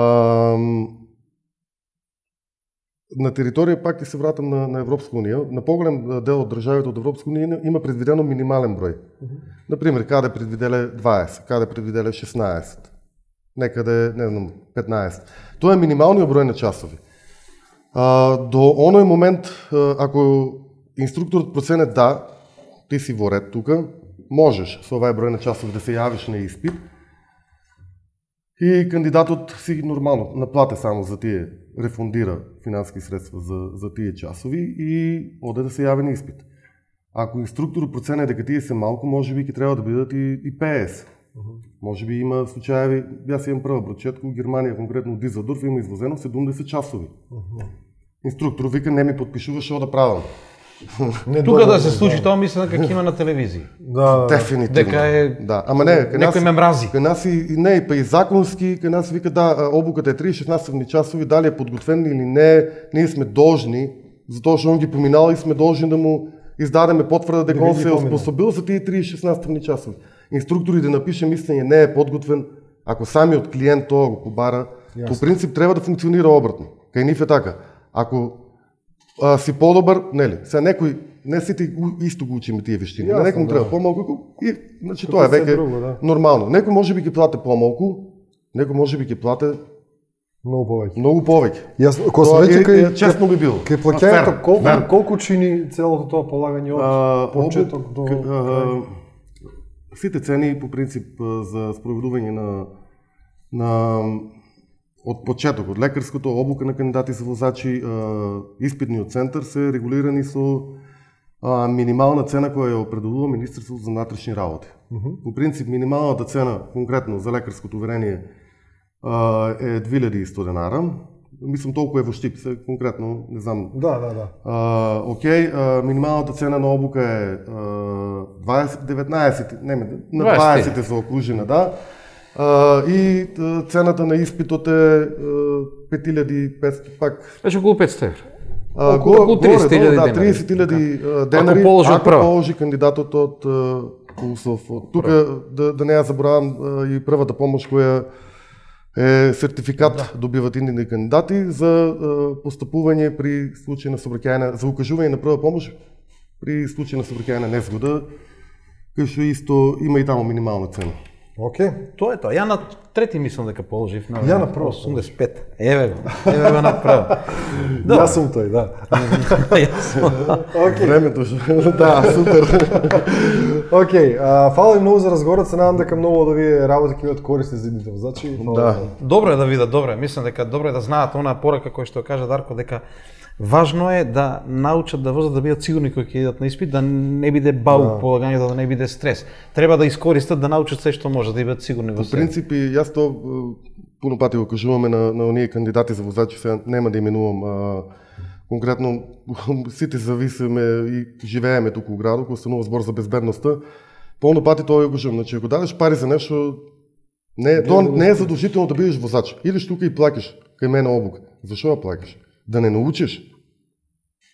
Speaker 3: на територија пак ќе се вратам на, на Европска унија. На поголем дел од државите од Европска унија има предвидено минимален број. Uh -huh. Например, каде предвиделе дваесет, каде предвиделе шеснаесет, некаде, не знам, петнаесет. Тоа е минималниот број на часови. А, до оној момент, ако инструкторот процене да, ти си во ред тука, можеш со овај број на часови да се јавиш на испит и кандидатот си нормално наплате само за тие, рефундира финански средства за, за тие часови и оде да се јави на испит. Ако инструкторот процене дека тие се малку, може би ќе треба да бидат и, и петдесет. Uh -huh. Може би има случаеви, јас имам прва прочетка, у Германија, конкретно од Дизелдорф, има извозено седумдесет часови. Uh -huh. Инструктор вика, не ми подпишуваш, што да правам.
Speaker 2: Тука да се случи тоа, мислам дека има на телевизија.
Speaker 1: Да,
Speaker 3: дефинитивно.
Speaker 2: Дека е
Speaker 3: да, ама не, кај нас
Speaker 2: некој ме мрази.
Speaker 3: Кај нас и не, па и законски, кај нас вика да, обуката е триесет наставни часови, дали е подготвен или не, ние сме должни, затоа што он ги поминал и сме должни да му издадеме потврда дека он се е оспособил за тие триесет наставни часови. Инструкторите да напише мислење не е подготвен, ако самиот клиент тоа го побара, Јасно. По принцип треба да функционира обратно. Кај нив е така. Ако а, си подобар, нели, сега некој не сите исто го учиме тие вештини. На некој му треба да. Помалку и значи тоа е веќе да. Нормално. Некој можеби ќе плате помалку, некој можеби ќе плате
Speaker 1: многу повеќе.
Speaker 3: Многу повеќе.
Speaker 1: Јас кога сме веќе кај
Speaker 3: честно би било.
Speaker 1: Кај плаќањето колку вер. колку чини целото тоа полагање од а, почеток до крај?
Speaker 3: Сите цени по принцип за спроведување на на од почеток, од лекарското, обука на кандидати за возачи, испитниот центар се регулирани со а, минимална цена која ја определува Министерството за внатрешни работи. Uh -huh. По принцип минималната цена конкретно за лекарското уверение а, е две илјади и сто денара. Мислам толку е во Штип, се конкретно, не знам.
Speaker 1: Да, да, да.
Speaker 3: А, окей, а, минималната цена на обука е а, дваесет, деветнаесет, не, на дваесет е заокружена, да. Uh, и uh, цената на испитот е uh, пет илјади и петстотини, пак.
Speaker 2: Беше околу петстотини евра.
Speaker 3: Uh, околу, околу триесет илјади да, триесет илјади денари, ако положи, ако положи кандидатот од uh, УСОФ. Тука да, да не ја заборавам uh, и првата помош која е сертификат да. добиват индивидуални кандидати за постапување при случај на сообраќајна, за укажување на прва помош при случај на сообраќајна незгода, кај што исто има и таму минимална цена.
Speaker 1: Океј.
Speaker 2: Тоа е тоа. Ја на трети мислам дека положив на
Speaker 1: Ја на прво
Speaker 2: осумдесет и пет. Еве го. Еве го на прво.
Speaker 1: Јас сум тој, да.
Speaker 2: Јас сум.
Speaker 3: Океј. Времето да, супер.
Speaker 1: Океј, фала ви многу за разговорот, се надам дека многу од овие работи ќе имат користи за идните возачи.
Speaker 3: Да.
Speaker 2: Добро е да видат, добро е. Мислам дека добро е да знаат онаа порака која што кажа Дарко, дека важно е да научат да возат, да бидат сигурни кога ќе идат на испит, да не биде баук да. полагањето, да не биде стрес. Треба да искористат, да научат се што може, да бидат сигурни во
Speaker 3: себе. По принцип, јас тоа пуно пати го кажуваме на, на оние кандидати за возачи, сега нема да именувам. А, конкретно, сите зависиме и живееме туку во градот, кога станува збор за безбедноста. Полно пати тоа го кажувам, значи ако дадеш пари за нешто, не, тоа не е задолжително да бидеш возач. Идеш тука и плакаш кај мене обука. Зашо ја плакаш? Да не научиш?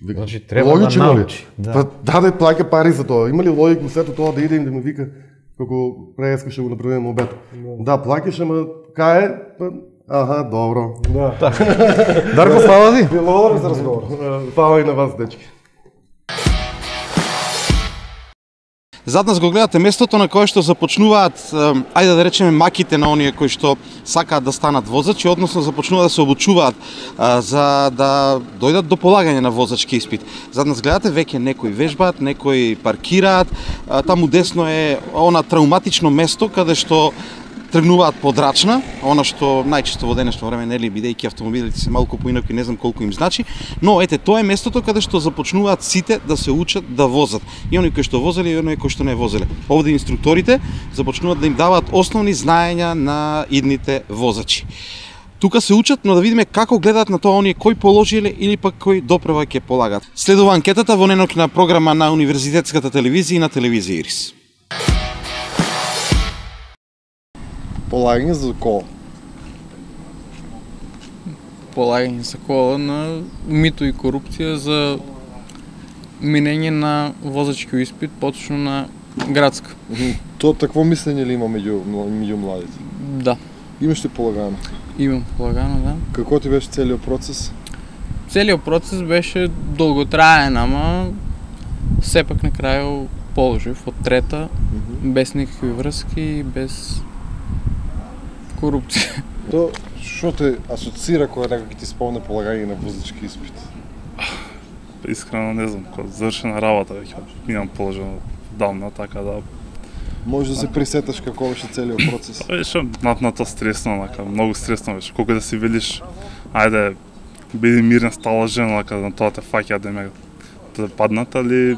Speaker 2: Значи треба логично да научи.
Speaker 3: Да. Па даде плаќа пари за тоа. Има ли логика во сето тоа да иде им да ме вика како преска ќе го направиме обед? Да, плаќаш, ама кај е? Па, аха, добро.
Speaker 1: Да.
Speaker 2: Дарко, фала ти.
Speaker 1: Благодарам за разговор.
Speaker 3: Фала и на вас, дечки.
Speaker 2: Зад нас го гледате местото на кое што започнуваат, ајде да речеме, маките на оние кои што сакаат да станат возачи, односно започнуваат да се обучуваат а, за да дојдат до полагање на возачки испит. Зад нас гледате веќе некои вежбаат, некои паркираат, а, таму десно е она травматично место каде што тргнуваат по Драчна, она што најчесто во денешно време, нели, бидејќи автомобилите се малку поинаку и не знам колку им значи, но ете, тоа е местото каде што започнуваат сите да се учат да возат. И оние кои што возеле и оние кои што не возеле. Овде инструкторите започнуваат да им даваат основни знаења на идните возачи. Тука се учат, но да видиме како гледаат на тоа оние кои положиле или пак кои допрева ќе полагат. Следува анкетата во ненокна програма на Универзитетската телевизија и на телевизија Ирис.
Speaker 1: Полагање за кола.
Speaker 4: Полагање за кола на мито и корупција за минење на возачки испит, поточно на градска.
Speaker 1: Тоа такво мислење ли има меѓу меѓу младите?
Speaker 4: Да.
Speaker 1: Имаш ли полагано?
Speaker 4: Имам полагано, да.
Speaker 1: Како ти беше целиот процес?
Speaker 4: Целиот процес беше долготраен, ама сепак на крај положив од трета, mm-hmm. без никакви врски, без корупција.
Speaker 1: Тоа што те асоцира кога некој ти спомне полагање на возачки испит?
Speaker 5: Искрено не знам, кога завршена работа веќе имам положено давно, така да
Speaker 1: може да се присеташ како беше целиот процес?
Speaker 5: Беше на, на тоа стресно, нака, многу стресно беше. Колку да си велиш, ајде, биди мирна, стала жена, нака, на тоа те фаќа да ме да паднат, али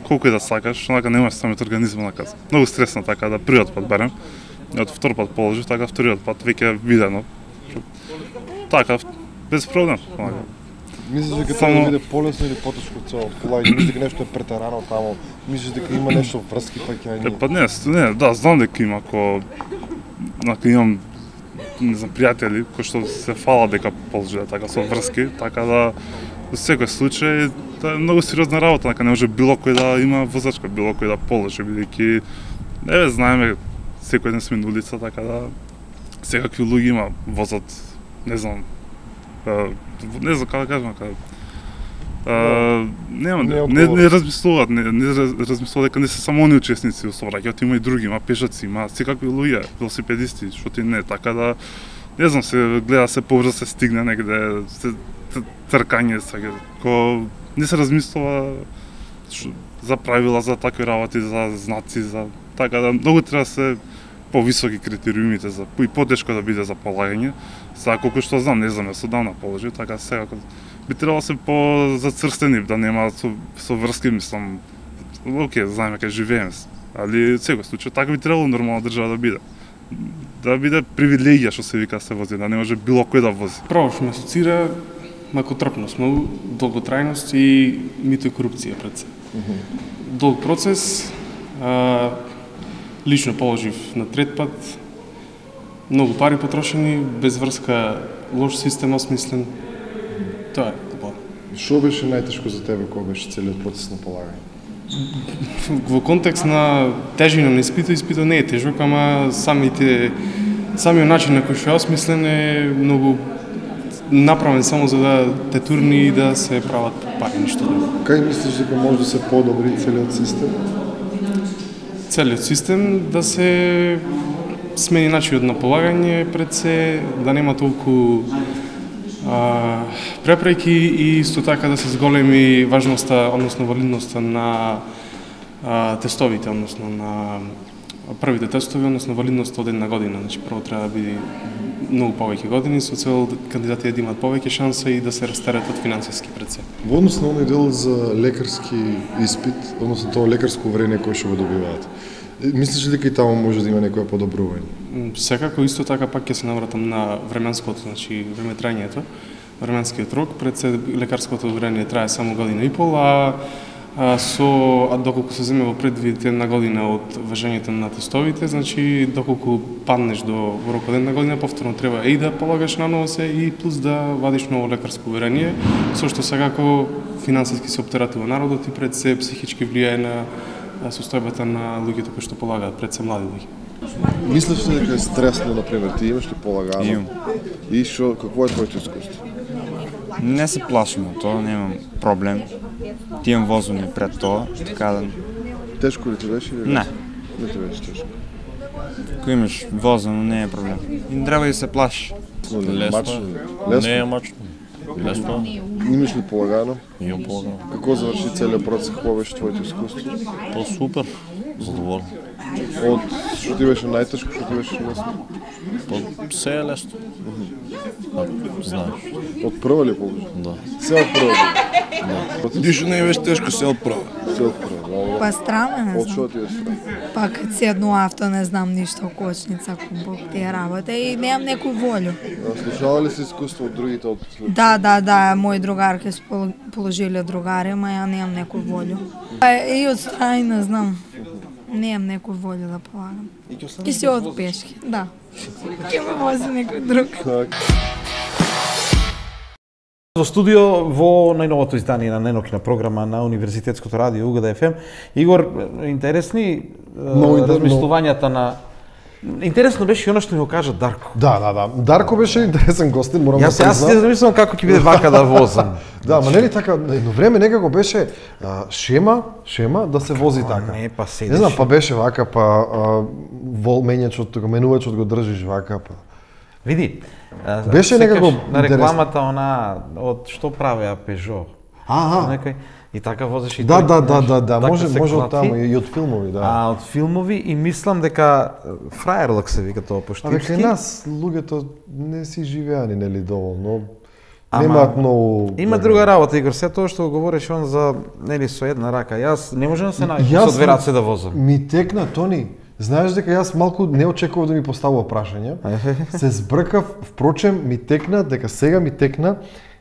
Speaker 5: колку и да сакаш, нака немаш самиот организм, нака. Многу стресно, така да првиот пат барем. Од втор пат положив, така вториот пат веќе видено. Така, без проблем.
Speaker 1: Мислиш дека треба да биде полесно или потешко цело полагање? Мислиш дека нешто е претерано таму? Мислиш дека има нешто врски паќање?
Speaker 5: Па не, не, да, знам дека има, ако нака имам не знам пријатели кои што се фала дека положиле така со врски, така да во секој случај тоа е многу сериозна работа, дека не може било кој да има возачка, било кој да положи, бидејќи еве знаеме секој ден сме на улица, така да секакви луѓе има возат, не знам, не знам како да кажам, како Uh, нема, не, не, не размислуваат, не, не размислуваат дека не се само они учесници во сообраќајот, има и други, има пешаци, има секакви луѓе, велосипедисти, што ти не, така да не знам, се гледа се побрзо се стигне негде, се тркање сега, ко не се размислува шо, за правила, за такви работи, за знаци, за така да многу треба се повисоки критериумите за и потешко да биде за полагање. Сега колку што знам, не знам, јас одамна положи, така сега би требало се по-зацрстени, да нема со, со врски, мислам, окей, знаеме кај живееме, али секој случај, така би требало нормална држава да биде. Да биде привилегија што се вика се вози, да не може било кој да вози.
Speaker 6: Прво што ме асоцира макотрпност, многу долготрајност и мито и корупција пред се. Mm-hmm. Долг процес, а, лично положив на трет пат, многу пари потрошени, без врска, лош систем осмислен. Тоа е тоа.
Speaker 1: Што беше најтешко за тебе кога беше целиот процес на полагање?
Speaker 6: Во контекст на тежина на испитот, испитот не е тежок, ама самите самиот начин на кој што е осмислен е многу направен само за да те турни и да се прават пари, ништо друго.
Speaker 1: Кај мислиш дека може да се подобри целиот систем?
Speaker 6: Целиот систем да се смени начинот на полагање пред се, да нема толку а, препреки и исто така да се зголеми важноста, односно валидноста на а, тестовите, односно на првите тестови, односно валидноста од една година. Значи прво треба да биде многу повеќе години со цел кандидатите да имаат повеќе шанса и да се растеретат финансиски пред се.
Speaker 1: Во однос на оној дел за лекарски испит, односно тоа лекарско уверение кое што го добиваат, мислиш ли дека и таму може да има некоја подобрување?
Speaker 6: Секако исто така пак ќе се навратам на временското, значи времетрањето, временскиот рок, пред се лекарското уверение трае само година и пол, а А, со, а доколку се земе во предвид една година од важењето на тестовите, значи доколку паднеш до рок од една година, повторно треба и да полагаш наново се и плюс да вадиш ново лекарско уверение, со што секако финансиски се оптератува народот и пред се психички влијае на состојбата на луѓето кои што полагаат, пред се млади луѓе.
Speaker 1: Мислиш ли дека е стресно, например, ти имаш ли полагано?
Speaker 7: Имам.
Speaker 1: И што, какво е твоето искуство?
Speaker 7: Не се плашам од тоа, немам проблем. Ти имам возење пред тоа, така да...
Speaker 1: Тешко ли ти беше или?
Speaker 7: Не.
Speaker 1: Не ти беше тешко.
Speaker 7: Ако имаш возено, не е проблем. И не треба да се плашиш.
Speaker 1: Лесно.
Speaker 8: Не е мачно. Лесно.
Speaker 1: Имаш ли полагано?
Speaker 8: Имам полагано.
Speaker 1: Како заврши целиот процес, какво беше твоето искуство?
Speaker 8: То супер. Задоволен.
Speaker 1: Од што ти беше најтешко, што ти беше лесно?
Speaker 8: То се е лесно. Знаеш.
Speaker 1: Од прва ли положи?
Speaker 8: Да.
Speaker 1: Се од прва.
Speaker 9: Ништо не беше тешко, се од прва.
Speaker 1: Се од прва.
Speaker 10: Па страна, не
Speaker 1: Од што
Speaker 10: знам.
Speaker 1: ти е страна?
Speaker 10: Па кад седну авто, не знам ништо, кочница, кумбок, тие работа и немам некој волю.
Speaker 1: Слушнала ли си искуство од другите од...
Speaker 10: Да, да, да, мои другарки се пол- положиле другари, ма ја немам некој волю. Па и од страни не знам. Немам некој волю да полагам. И се од пешки, да. Ке ме вози некој друг.
Speaker 2: Во студио во најновото издание на најнокина програма на Универзитетското радио УГД еф ем. Игор, интересни
Speaker 1: Много интер-
Speaker 2: размислувањата на... Интересно беше и оно што ми го кажа Дарко.
Speaker 1: Да, да, да. Дарко беше интересен гостин, морам да
Speaker 2: Јас јас
Speaker 1: признам.
Speaker 2: си замислувам како ќе биде вака да возам.
Speaker 1: Да, ма нели така, на едно време некако беше а, шема, шема да се вози така.
Speaker 2: Не, па седиш.
Speaker 1: Не знам, па беше вака, па а, волменјачот, тука менувачот го држиш вака, па.
Speaker 2: Види, а,
Speaker 1: Беше
Speaker 2: секаш
Speaker 1: некако
Speaker 2: на
Speaker 1: интересно.
Speaker 2: рекламата она од што правеа Peugeot.
Speaker 1: Аха.
Speaker 2: Некој и така возиш и
Speaker 1: Да,
Speaker 2: тој,
Speaker 1: да, да,
Speaker 2: знаеш,
Speaker 1: да, да,
Speaker 2: така
Speaker 1: може
Speaker 2: се
Speaker 1: може од
Speaker 2: клати.
Speaker 1: таму и од филмови, да.
Speaker 2: А од филмови и мислам дека фрајерлак се вика тоа
Speaker 1: А
Speaker 2: поштипски.
Speaker 1: дека и нас луѓето не си живеани нели доволно.
Speaker 2: Ама,
Speaker 1: Немаат многу.
Speaker 2: Има друга работа, Игор, се тоа што го говориш он за нели со една рака. Јас не можам да се најдам
Speaker 1: Јас
Speaker 2: со две раце да возам.
Speaker 1: Ми текна, Тони. Знаеш дека јас малку не очекував да ми поставува прашање. Се збркав, впрочем ми текна дека сега ми текна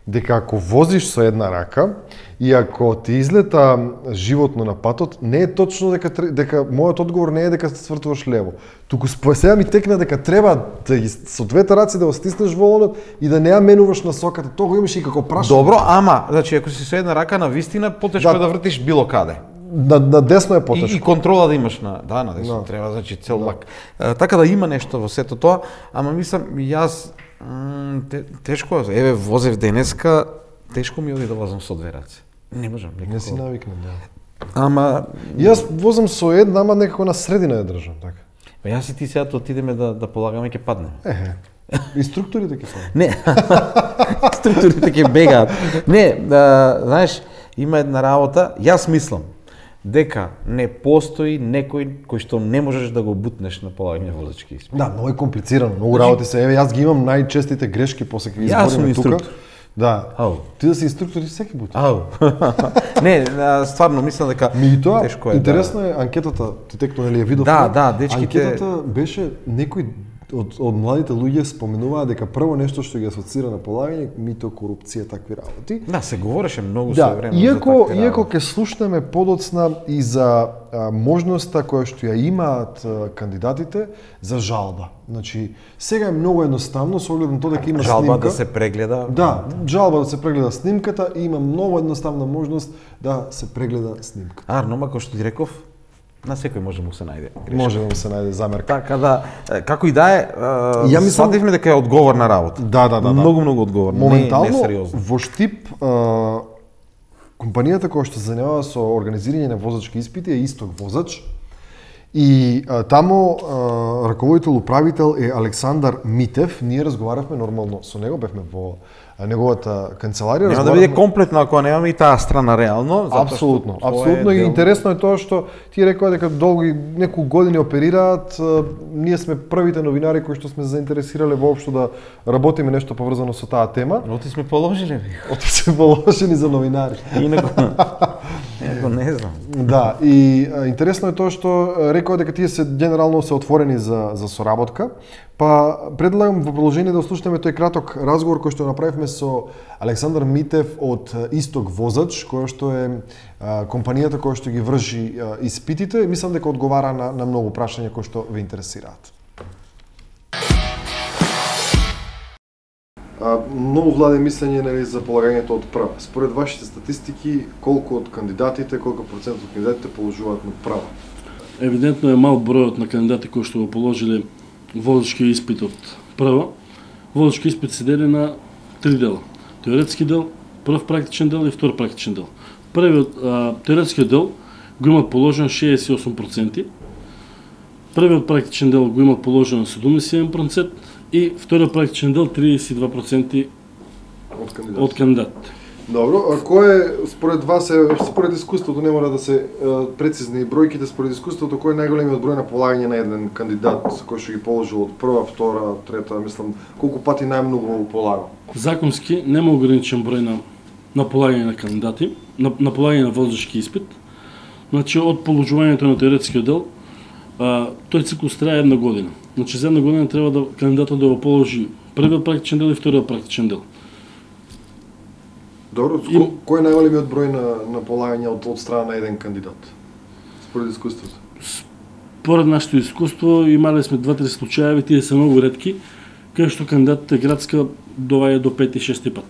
Speaker 1: дека ако возиш со една рака и ако ти излета животно на патот, не е точно дека тре- дека мојот одговор не е дека се свртуваш лево. Туку спо- сега ми текна дека треба да ги, со двете раци да го стиснеш волонот и да не ја менуваш насоката. Тоа го имаш и како прашање.
Speaker 2: Добро, ама, значи ако си со една рака на вистина, потешко
Speaker 1: Да.
Speaker 2: е да вртиш било каде.
Speaker 1: На, на десно е
Speaker 2: И,
Speaker 1: потешко.
Speaker 2: и контрола да имаш на, да, на десно,
Speaker 1: Да.
Speaker 2: треба значи цел лак. Е, така да има нешто во сето тоа, ама мислам јас м, те, тешко е, еве возев денеска, тешко ми оди да возам со две раце. Не можам никако.
Speaker 1: Не си навикнат, да.
Speaker 2: Ама
Speaker 1: Јас возам со една, ама некако на средина ја држам, така.
Speaker 2: па јас и ти сега отидеме да да полагаме ќе паднеме.
Speaker 1: Ехе. Инструкторите ќе фалат.
Speaker 2: Не. Структурите ќе бегаат. Не, да, знаеш, има една работа, јас мислам дека не постои некој кој што не можеш да го бутнеш на полагање возачки испит.
Speaker 1: Да, многу е комплицирано, многу работи се. Еве јас ги имам најчестите грешки после кога ги
Speaker 2: Јас сум
Speaker 1: избориме тука.
Speaker 2: инструктор.
Speaker 1: Да.
Speaker 2: Ау.
Speaker 1: Ти да си инструктор и секи пат.
Speaker 2: Ау. Не, а, стварно мислам дека
Speaker 1: Ми и тоа,
Speaker 2: тешко е.
Speaker 1: интересно е анкетата, ти текно нели ја видов?
Speaker 2: Да,
Speaker 1: на-
Speaker 2: да, дечките-
Speaker 1: Анкетата беше некој од од младите луѓе споменуваа дека прво нешто што ги асоцира на полагање мито, корупција, такви работи.
Speaker 2: Да, се говореше многу
Speaker 1: Да,
Speaker 2: со време
Speaker 1: иако
Speaker 2: за такви
Speaker 1: иако
Speaker 2: работи.
Speaker 1: ќе слушнеме подоцна и за а, можноста која што ја имаат а, кандидатите за жалба. Значи, сега е многу едноставно со оглед на тоа дека има
Speaker 2: жалба
Speaker 1: снимка.
Speaker 2: да се прегледа.
Speaker 1: Да, жалба да се прегледа снимката и има многу едноставна можност да се прегледа снимката.
Speaker 2: Арно, ма кој што ти реков, На секој може да му се најде грешка.
Speaker 1: Може да му се најде замерка.
Speaker 2: Така да, како и да е,
Speaker 1: Ја мислам-
Speaker 2: свативме дека е одговорна работа.
Speaker 1: Да, да, да, да.
Speaker 2: Многу, многу одговорна,
Speaker 1: Моментално,
Speaker 2: не, не сериозно.
Speaker 1: во Штип, а, компанијата која што се занимава со организирање на возачки испити е Исток возач. И а, тамо а, раководител управител е Александар Митев. Ние разговаравме нормално со него, бевме во а, неговата канцеларија.
Speaker 2: Нема да биде комплетно ако немаме и таа страна реално, затоа
Speaker 1: Апсолутно,
Speaker 2: што тоа е
Speaker 1: апсолутно и
Speaker 2: дел-
Speaker 1: интересно е тоа што ти рекоа дека долги неколку години оперираат, а, ние сме првите новинари кои што сме заинтересирале воопшто да работиме нешто поврзано со таа тема.
Speaker 2: Оти сме положили.
Speaker 1: Оти сме положени за новинари.
Speaker 2: Инаку, инаку не знам.
Speaker 1: Да, и а, интересно е тоа што а, рекоа дека тие се генерално се отворени за за соработка. Па предлагам во продолжение да слушнеме тој краток разговор кој што направивме со Александар Митев од а, Исток возач, која што е а, компанијата која што ги врши а, испитите. Мислам дека одговара на на многу прашања кои што ве интересираат. А, многу владе мислење нели за полагањето од права. Според вашите статистики, колку од кандидатите, колку процент од кандидатите положуваат на права?
Speaker 11: Евидентно е мал бројот на кандидати кои што го положиле возачки испит од прва. Возачки испит се дели на три дела. Теоретски дел, прв практичен дел и втор практичен дел. Првиот а, теоретскиот дел го имат положено шеесет и осум проценти. Првиот практичен дел го имат положено седумдесет и еден проценти и вториот практичен дел триесет и два проценти
Speaker 1: од кандидатите.
Speaker 11: од кандидатите.
Speaker 1: Добро, а кој е според вас е според искуството, не мора да се е, прецизни бројките, според искуството кој е најголемиот број на полагање на еден кандидат кој што ги положил од прва, втора, трета, мислам, колку пати најмногу го полагал?
Speaker 11: Законски нема ограничен број на на полагање на кандидати, на, на полагање на возачки испит. Значи од положувањето на теоретскиот дел, а, тој циклус трае една година. Значи за една година треба да кандидатот да го положи првиот практичен дел и вториот практичен дел.
Speaker 1: Добро,
Speaker 11: И-
Speaker 1: кој е најголемиот број на на полагање од од страна на еден кандидат? Според искуството.
Speaker 11: Поред нашето искуство имале сме два-три случаи, тие се многу ретки, кај што кандидатите градска доваѓа до пет и шести пат.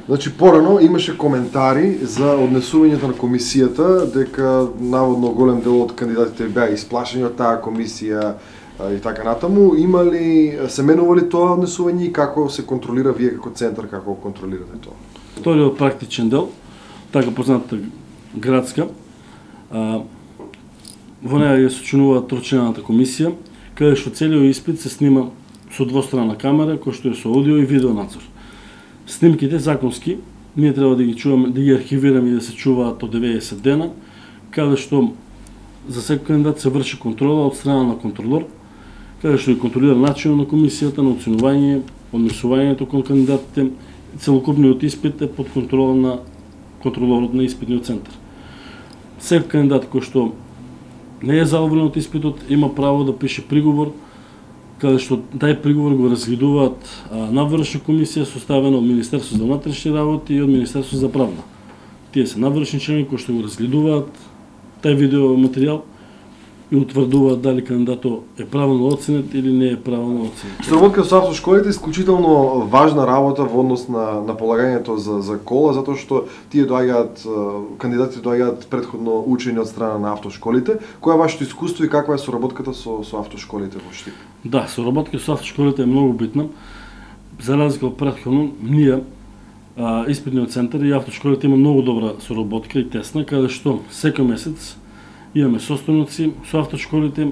Speaker 1: Значи порано имаше коментари за однесувањето на комисијата дека наводно голем дел од кандидатите беа исплашени од таа комисија а, и така натаму. Има ли се менува ли тоа однесување и како се контролира вие како центар, како го контролирате тоа?
Speaker 11: Вториот практичен дел, така познатата градска, а, во неја ја сочинува трочлената комисија, каде што целиот испит се снима со двострана камера, кој што е со аудио и видео надзор. Снимките законски ние треба да ги чуваме, да ги архивираме и да се чуваат од деветдесет дена, каде што за секој кандидат се врши контрола од страна на контролор, каде што ги контролира начинот на комисијата, на оценување, однесувањето кон кандидатите. Целокупниот испит е под контрола на контролорот на испитниот центар. Секој кандидат кој што не е задоволен од испитот има право да пише приговор, каде што тај приговор го разгледуваат а, надвршна комисија составена од Министерството за внатрешни работи и од Министерството за правна. Тие се надвршни члени кои што го разгледуваат тај видео материјал и утврдуваат дали кандидатот е правилно оценет или не е правилно оценет.
Speaker 1: Соработка со автошколите е исклучително важна работа во однос на на полагањето за за кола, затоа што тие доаѓаат кандидатите доаѓаат претходно учени од страна на автошколите. Кој е вашето искуство и каква е соработката со со автошколите во Штип?
Speaker 11: Да, соработка со автошколите е многу битна. За разлика од претходно, ние а, испитниот центар и автошколите има многу добра соработка и тесна, каде што секој месец имаме состојници со автошколите.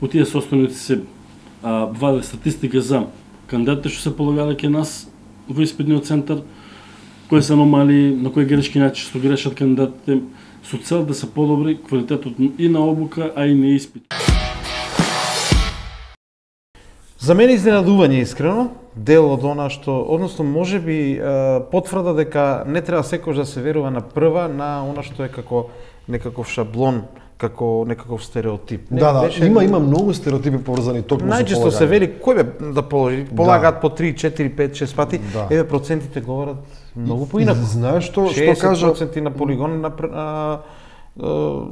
Speaker 11: Во тие состојници се а, ваде статистика за кандидатите што се полагале кај нас во испитниот центар, кои се аномалии, на кои грешки најчесто грешат кандидатите, со цел да се подобри квалитетот и на обука, а и на испит.
Speaker 2: За мене изненадување искрено, дел од она што, односно можеби потврда дека не треба секој да се верува на прва на она што е како некаков шаблон, како некаков стереотип. Не,
Speaker 1: Да, да,
Speaker 2: беше...
Speaker 1: има има многу стереотипи поврзани токму со
Speaker 2: Најчесто се вели кој бе да положи, полагаат по три, четири, пет, шест пати.
Speaker 1: Да.
Speaker 2: Еве процентите говорат многу поинаку.
Speaker 1: Знаеш што што
Speaker 2: шеесет
Speaker 1: кажа
Speaker 2: проценти на полигон на а, а,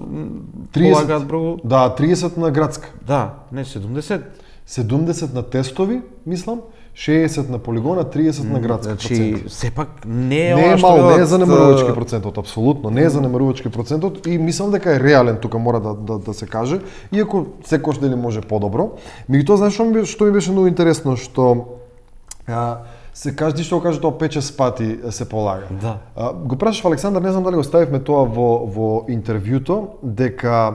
Speaker 1: триесет,
Speaker 2: полагаат многу.
Speaker 1: да, триесет на градска.
Speaker 2: Да, не седумдесет.
Speaker 1: седумдесет на тестови, мислам, шеесет на полигона, триесет на градска
Speaker 2: Значи,
Speaker 1: процент.
Speaker 2: сепак не е
Speaker 1: Не е
Speaker 2: ова што
Speaker 1: мал, не е
Speaker 2: велат,
Speaker 1: занемарувачки процентот, апсолутно, не е занемарувачки процентот и мислам дека е реален тука мора да да, да се каже, иако секош дали може подобро. Меѓутоа знаеш што ми што ми беше многу интересно што а, се кажи што го кажа тоа пет-шест пати се полага.
Speaker 2: Да.
Speaker 1: А, го прашав Александар, не знам дали го ставивме тоа во во интервјуто, дека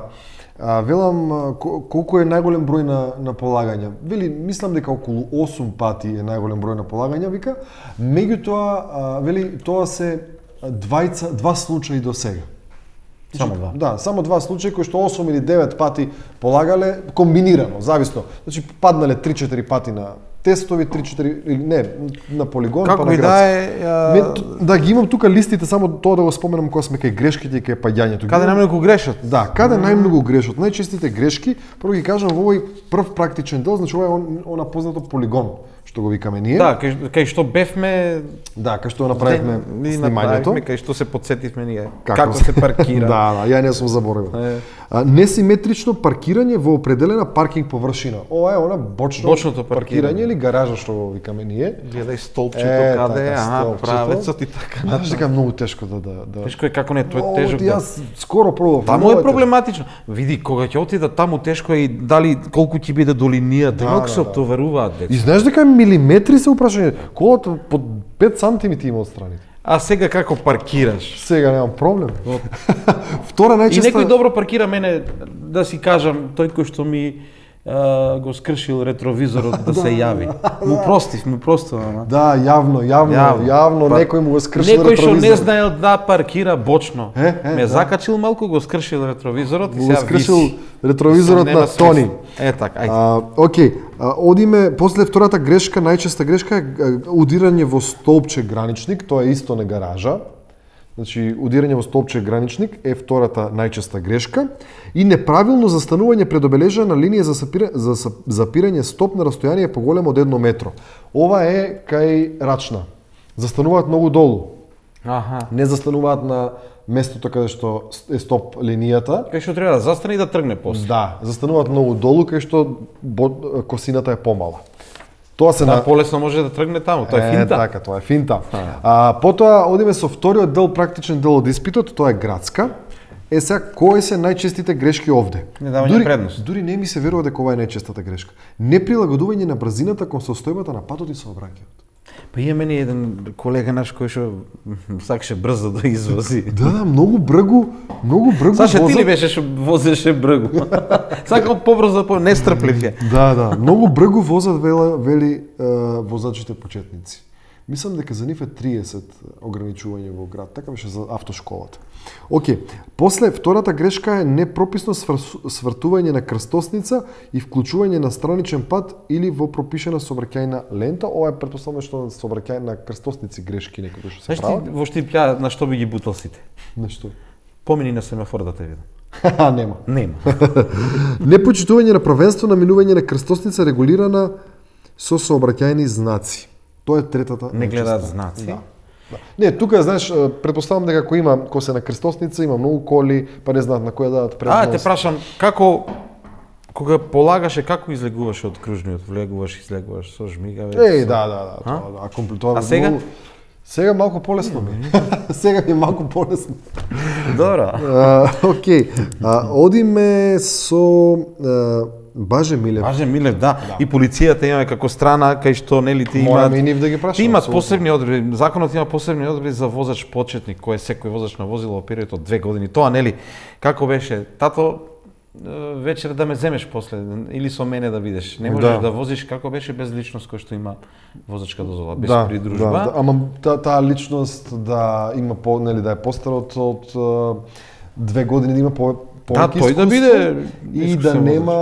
Speaker 1: а, велам а, колку е најголем број на на полагања. Вели мислам дека околу осум пати е најголем број на полагања, вика. Меѓутоа а, вели тоа се двајца два случаи до сега.
Speaker 2: Само два.
Speaker 1: Да, само два случаи кои што осум или девет пати полагале комбинирано, зависно. Значи паднале три-четири пати на тестови, три-четири или не, на полигон,
Speaker 2: како
Speaker 1: па на
Speaker 2: и да
Speaker 1: градски.
Speaker 2: е, а...
Speaker 1: Ме, да ги имам тука листите, само тоа да го споменам кога сме кај грешките и кај паѓањето.
Speaker 2: Каде најмногу грешат?
Speaker 1: Да, каде најмногу грешат? Најчестите грешки, прво ги кажам во овој прв практичен дел, значи ова е он, она познато полигон, што го викаме ние.
Speaker 2: Да, кај, кај што бевме...
Speaker 1: Да, кај што направивме
Speaker 2: Ни
Speaker 1: снимањето.
Speaker 2: направивме, кај што се подсетивме ние.
Speaker 1: Како,
Speaker 2: Како, се паркира.
Speaker 1: Да, да, ја не сум заборавил.
Speaker 2: Е.
Speaker 1: А, несиметрично паркирање во определена паркинг површина. Ова е она бочно
Speaker 2: Бочното паркирање.
Speaker 1: паркирање или гаража што го викаме ние.
Speaker 2: Гледај столпчето
Speaker 1: Е,
Speaker 2: каде е,
Speaker 1: така,
Speaker 2: аха,
Speaker 1: столпчето.
Speaker 2: правецот и така.
Speaker 1: Знаеш дека е многу тешко да да да.
Speaker 2: Тешко е како не, тоа е
Speaker 1: О,
Speaker 2: тежок.
Speaker 1: ти
Speaker 2: Да.
Speaker 1: Јас скоро пробав.
Speaker 2: Таму
Speaker 1: многу
Speaker 2: е
Speaker 1: тешко.
Speaker 2: проблематично. Види, кога ќе отида таму тешко е и дали колку ќе биде до линијата,
Speaker 1: Да,
Speaker 2: колку
Speaker 1: да,
Speaker 2: се
Speaker 1: да.
Speaker 2: оптоваруваат деца.
Speaker 1: И знаеш дека милиметри се упрашање. Колата под пет сантиметри има отстрани.
Speaker 2: А сега како паркираш?
Speaker 1: Сега немам проблем. Втора
Speaker 2: И
Speaker 1: најчеста
Speaker 2: некој добро паркира мене, да си кажам, тој кој што ми а, го скршил ретровизорот да се јави. Му простив, му простив, ама.
Speaker 1: Да, јавно, јавно, јавно, јавно
Speaker 2: Па,
Speaker 1: некој му го скршил
Speaker 2: Некој што
Speaker 1: ретровизорот.
Speaker 2: не знаел да паркира бочно.
Speaker 1: Е, е,
Speaker 2: ме
Speaker 1: да.
Speaker 2: закачил малку, го скршил ретровизорот и
Speaker 1: Му
Speaker 2: сега
Speaker 1: го скршил
Speaker 2: виси.
Speaker 1: ретровизорот
Speaker 2: Нема
Speaker 1: на
Speaker 2: смисла.
Speaker 1: Тони.
Speaker 2: Е така, ајде.
Speaker 1: А, окей, а, одиме после втората грешка, најчеста грешка е а, удирање во столпче граничник, тоа е исто на гаража. Значи, удирање во столпче граничник е втората најчеста грешка и неправилно застанување пред обележена линија за, сапира, за сап- запирање стоп на растојание поголемо од едно метро. Ова е кај Рачна. Застануваат многу долу.
Speaker 2: Аха.
Speaker 1: Не застануваат на местото каде што е стоп линијата.
Speaker 2: Кај што треба да застане и да тргне после.
Speaker 1: Да, застануваат многу долу кај што бо- косината е помала. Тоа се
Speaker 2: Да,
Speaker 1: на
Speaker 2: полесно може да тргне таму, тоа е финта.
Speaker 1: Е, така, тоа е финта. А, потоа одиме со вториот дел, практичен дел од испитот, тоа е градска. Е сега, кои се најчестите грешки овде?
Speaker 2: Недавање
Speaker 1: дури,
Speaker 2: предност.
Speaker 1: Дури не ми се верува дека ова е најчестата грешка. Неприлагодување на брзината кон состојбата на патот и сообраќајот.
Speaker 2: Па има мене еден колега наш кој што сакаше брзо да извози.
Speaker 1: Да, да, многу бргу, многу бргу
Speaker 2: Саша, ти
Speaker 1: возат.
Speaker 2: ли беше што возеше бргу? Сакал побрзо, по нестрплив е.
Speaker 1: Да, да, многу бргу возат вела, вели е, возачите почетници. Мислам дека за нив е триесет ограничување во град, така беше за автошколата. Океј, после втората грешка е непрописно сврс- свртување на крстосница и вклучување на страничен пат или во пропишена сообраќајна лента. Ова е претпоставувам што на сообраќајна крстосници грешки некои што се
Speaker 2: Знаеш
Speaker 1: прават.
Speaker 2: ти во Штипја на што би ги бутал сите?
Speaker 1: Нешто.
Speaker 2: Помини на семафор да те видам.
Speaker 1: Ха, нема.
Speaker 2: Нема.
Speaker 1: Непочитување на правенство на минување на крстосница регулирана со сообраќајни знаци. Тоа е третата.
Speaker 2: Не гледаат
Speaker 1: најчеста.
Speaker 2: знаци.
Speaker 1: Да. Да. Не, тука знаеш, претпоставам дека ако има кој се на крстосница, има многу коли, па не знаат на која дадат предност.
Speaker 2: А, те прашам, како кога полагаше, како излегуваше од кружниот, влегуваш, излегуваш со жмигавец?
Speaker 1: Еј, да, да, да,
Speaker 2: А?
Speaker 1: тоа, да, компле- тоа
Speaker 2: А сега?
Speaker 1: многу- Сега малку полесно ми. Сега ми е малку полесно.
Speaker 2: Добро.
Speaker 1: А, окей. А, одиме со а, Баже Милев.
Speaker 2: Баже Милев, да. И полицијата имаме како страна кај што нели ти
Speaker 1: Мораме
Speaker 2: имаат
Speaker 1: и нив да ги прашаме,
Speaker 2: Ти имаат
Speaker 1: апсолутно.
Speaker 2: посебни одредби. Законот има посебни одредби за возач почетник, кој е секој возач на возило во период од две години. Тоа нели како беше? Тато е, вечер да ме земеш после или со мене да видиш. Не можеш
Speaker 1: Да.
Speaker 2: да, возиш како беше без личност кој што има возачка дозвола, без
Speaker 1: Да,
Speaker 2: придружба.
Speaker 1: да, да, ама та, таа личност да има по, нели да е постар од од а, две години, да има по
Speaker 2: Да,
Speaker 1: повеќе
Speaker 2: тој да
Speaker 1: искуство
Speaker 2: биде
Speaker 1: и да
Speaker 2: искусен
Speaker 1: нема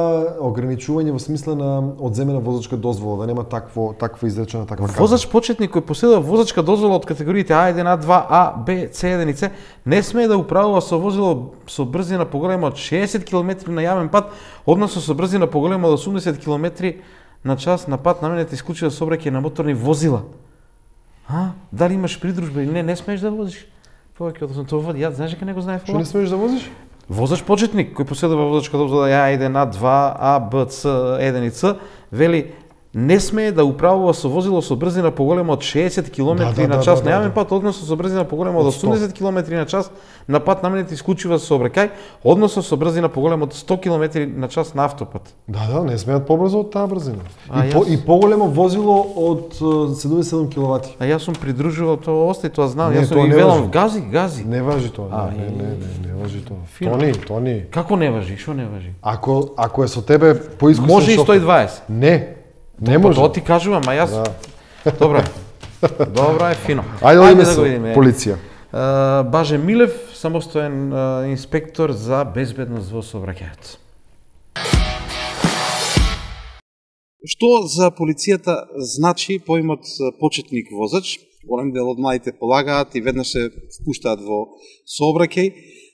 Speaker 1: ограничување во смисла на одземена возачка дозвола, да нема такво таква изречена таква казна.
Speaker 2: Возач почетник кој поседува возачка дозвола од категориите А еден, А два, А, Б, С еден и С не смее да управува со возило со брзина поголема од шеесет километри на јавен пат, односно со брзина поголема од осумдесет километри на час на пат наменет исклучува сообраќај на моторни возила. А, дали имаш придружба или не, не смееш да возиш. Повеќе од тоа води, ја знаеш дека не го знаев
Speaker 1: Што
Speaker 2: ова?
Speaker 1: не смееш да возиш?
Speaker 2: Возач почетник кој поседува возачка дозвола А еден, А два, А, Б, С еден и Ц, вели не смее да управува со возило со брзина поголема од шеесет километри
Speaker 1: Да, да,
Speaker 2: на
Speaker 1: да,
Speaker 2: час
Speaker 1: да,
Speaker 2: на
Speaker 1: да,
Speaker 2: јавен пат, односно со брзина поголема од
Speaker 1: Од сто.
Speaker 2: осумдесет километри на час на пат наменет исклучува со сообраќај, односно со брзина поголема од сто километри на час на автопат.
Speaker 1: Да, да, не смеат побрзо од таа брзина.
Speaker 2: А,
Speaker 1: И, по,
Speaker 2: јас-
Speaker 1: и поголемо возило од е, седумдесет и седум киловати.
Speaker 2: А јас сум придружувал тоа, остај тоа знам,
Speaker 1: Не,
Speaker 2: јас
Speaker 1: тоа
Speaker 2: сум и
Speaker 1: не
Speaker 2: велам
Speaker 1: важи.
Speaker 2: гази, гази.
Speaker 1: Не важи тоа.
Speaker 2: А,
Speaker 1: не,
Speaker 2: и-
Speaker 1: не, не, не важи тоа.
Speaker 2: Фино.
Speaker 1: Тони, Тони.
Speaker 2: Како не важи, што не важи?
Speaker 1: Ако ако е со тебе поискусен
Speaker 2: Може и
Speaker 1: шофер-
Speaker 2: сто и дваесет.
Speaker 1: Не. Не
Speaker 2: Па
Speaker 1: може.
Speaker 2: тоа ти кажувам, а јас
Speaker 1: Да.
Speaker 2: Добро. Добро е фино.
Speaker 1: Ајде одиме
Speaker 2: да
Speaker 1: со
Speaker 2: го видиме.
Speaker 1: полиција.
Speaker 2: Uh, Баже Милев, самостоен uh, инспектор за безбедност во сообраќајот.
Speaker 12: Што за полицијата значи поимот почетник возач? Голем дел од младите полагаат и веднаш се впуштаат во сообраќај.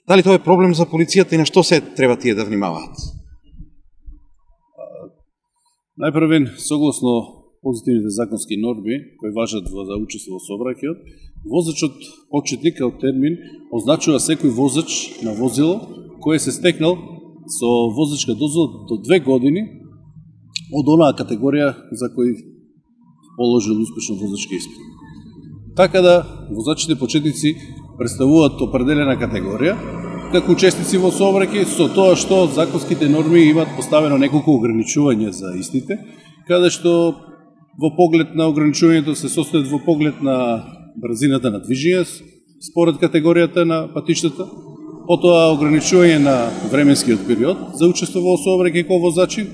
Speaker 12: Дали тоа е проблем за полицијата и на што се треба тие да внимаваат?
Speaker 13: Најпрвен, согласно позитивните законски норми кои важат во за учество во сообраќајот, возачот почетник како термин означува секој возач на возило кој се стекнал со возачка дозвола до две години од онаа категорија за кој положил успешно возачки испит. Така да, возачите почетници представуваат определена категорија како учесници во сообраќај, со тоа што законските норми имаат поставено неколку ограничувања за истите, каде што во поглед на ограничувањето се состојат во поглед на брзината на движење според категоријата на патиштата, потоа ограничување на временскиот период за учество во сообраќај како возачи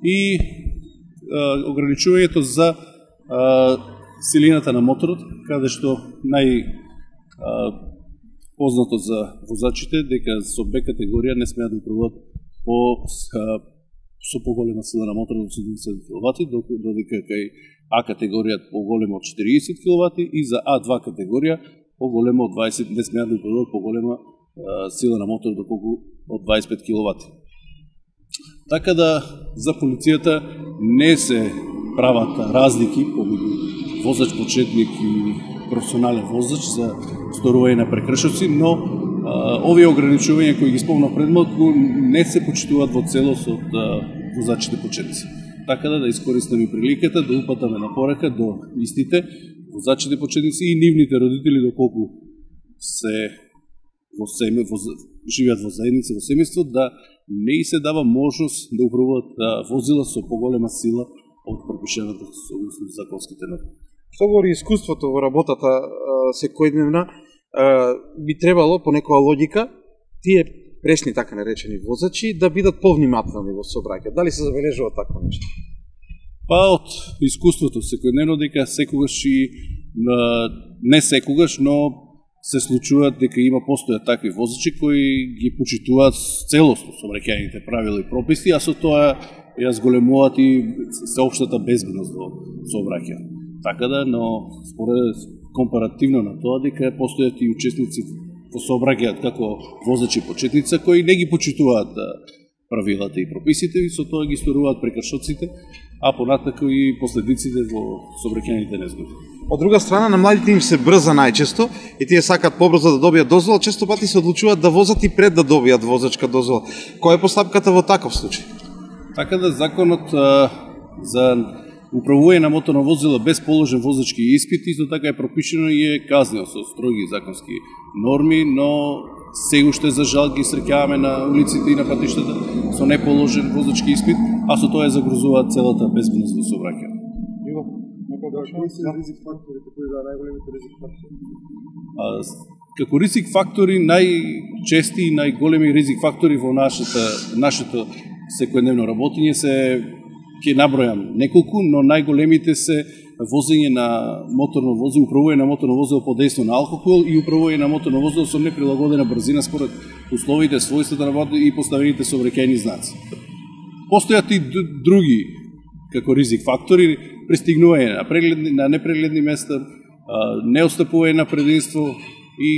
Speaker 13: и а, ограничувањето за а, силината на моторот, каде што нај а, познато за возачите дека со Б категорија не смеат да управуваат по а, со поголема сила на моторот од седумдесет киловати, додека кај А категорија поголема од четириесет киловати и за А два категорија поголема од дваесет, не смеат да управуваат поголема а, сила на моторот доколку од дваесет и пет киловати. Така да за полицијата не се прават разлики помеѓу возач почетник и професионален возач за сторување на прекршоци, но а, овие ограничувања кои ги спомнав пред малку не се почитуваат во целост од а, возачите почетници. Така да да искористаме приликата да упатаме на порака до истите возачите почетници и нивните родители доколку се во семе, во, живеат во заедница, во семејство, да не и се дава можност да управуваат да, возила со поголема сила од пропишената согласно законските норми.
Speaker 12: Што говори искуството во работата а, секојдневна, а, би требало по некоја логика тие пресни така наречени возачи да бидат повнимателни во сообраќај. Дали се забележува такво нешто?
Speaker 13: Па од искуството секојдневно дека секогаш и не секогаш, но се случуваат дека има постојат такви возачи кои ги почитуваат целосно сообраќајните правила и прописи, а со тоа ја зголемуваат и сеопштата безбедност во сообраќај. Така да, но според компаративно на тоа дека постојат и учесници во сообраќајот како возачи почетница кои не ги почитуваат правилата и прописите и со тоа ги сторуваат прекршоците, а понатаку и последиците во сообраќајните незгоди.
Speaker 12: Од друга страна, на младите им се брза најчесто и тие сакаат побрзо да добијат дозвола, често пати се одлучуваат да возат и пред да добијат возачка дозвола. Која е постапката во таков случај?
Speaker 13: Така да законот а, за управување на моторно возило без положен возачки испит исто така е пропишено и е казнено со строги законски норми, но се уште за жал ги среќаваме на улиците и на патиштата со неположен возачки испит, а со тоа е загрозуваат целата безбедност во сообраќајот.
Speaker 3: Кои се ризик факторите, кои да најголемите ризик фактори?
Speaker 13: А, како ризик фактори, најчести и најголеми ризик фактори во нашата, нашето секојдневно работење се, ќе набројам неколку, но најголемите се возење на моторно возило, управување на моторно возило под дејство на алкохол и управување на моторно возило со неприлагодена брзина според условите, својствата на водата и поставените сообраќајни знаци. Постојат и други како ризик фактори, пристигнување на прегледни, на непрегледни места, неостапување на прединство и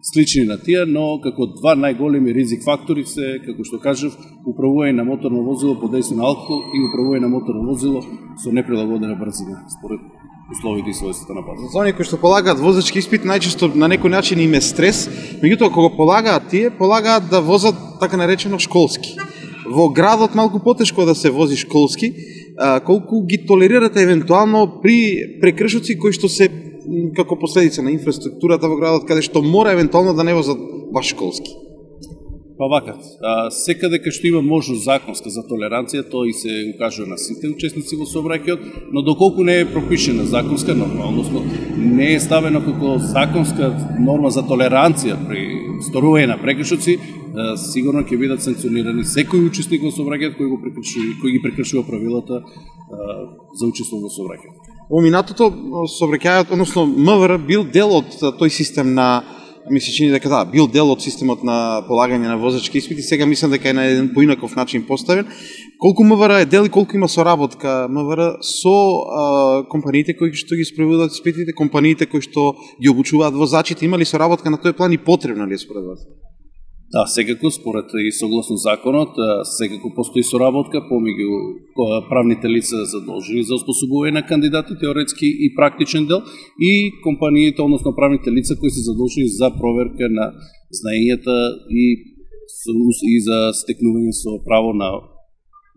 Speaker 13: слични на тие, но како два најголеми ризик фактори се, како што кажав, управување на моторно возило под дејство на алкохол и управување на моторно возило со неприлагодена брзина според условите и својствата на патот.
Speaker 12: За оние кои што полагаат возачки испит, најчесто на некој начин им е стрес, меѓутоа кога полагаат тие, полагаат да возат така наречено школски. Во градот малку потешко да се вози школски, а, колку ги толерирате евентуално при прекршоци кои што се м, како последица на инфраструктурата во градот, каде што мора евентуално да не возат баш школски?
Speaker 13: Па вака, а, секаде кај што има можност законска за толеранција, тоа и се укажува на сите учесници во сообраќајот, но доколку не е пропишена законска норма, односно не е ставена како законска норма за толеранција при сторување на прекршоци, а, сигурно ќе бидат санкционирани секој учесник во сообраќајот кој го прекршува, кој ги прекршува правилата а, за учество во сообраќајот.
Speaker 12: Во минатото сообраќајот, односно МВР бил дел од тој систем на, ми се чини дека да, бил дел од системот на полагање на возачки испити, сега мислам дека е на еден поинаков начин поставен. Колку МВР е дел и колку има соработка МВР со а, компаниите кои што ги спроведуваат испитите, компаниите кои што ги обучуваат возачите, има ли соработка на тој план и потребна ли е според вас?
Speaker 13: Да, секако, според и согласно законот, секако постои соработка помеѓу правните лица задолжени за оспособување на кандидати, теоретски и практичен дел, и компаниите, односно правните лица кои се задолжени за проверка на знаењата и, и за стекнување со право на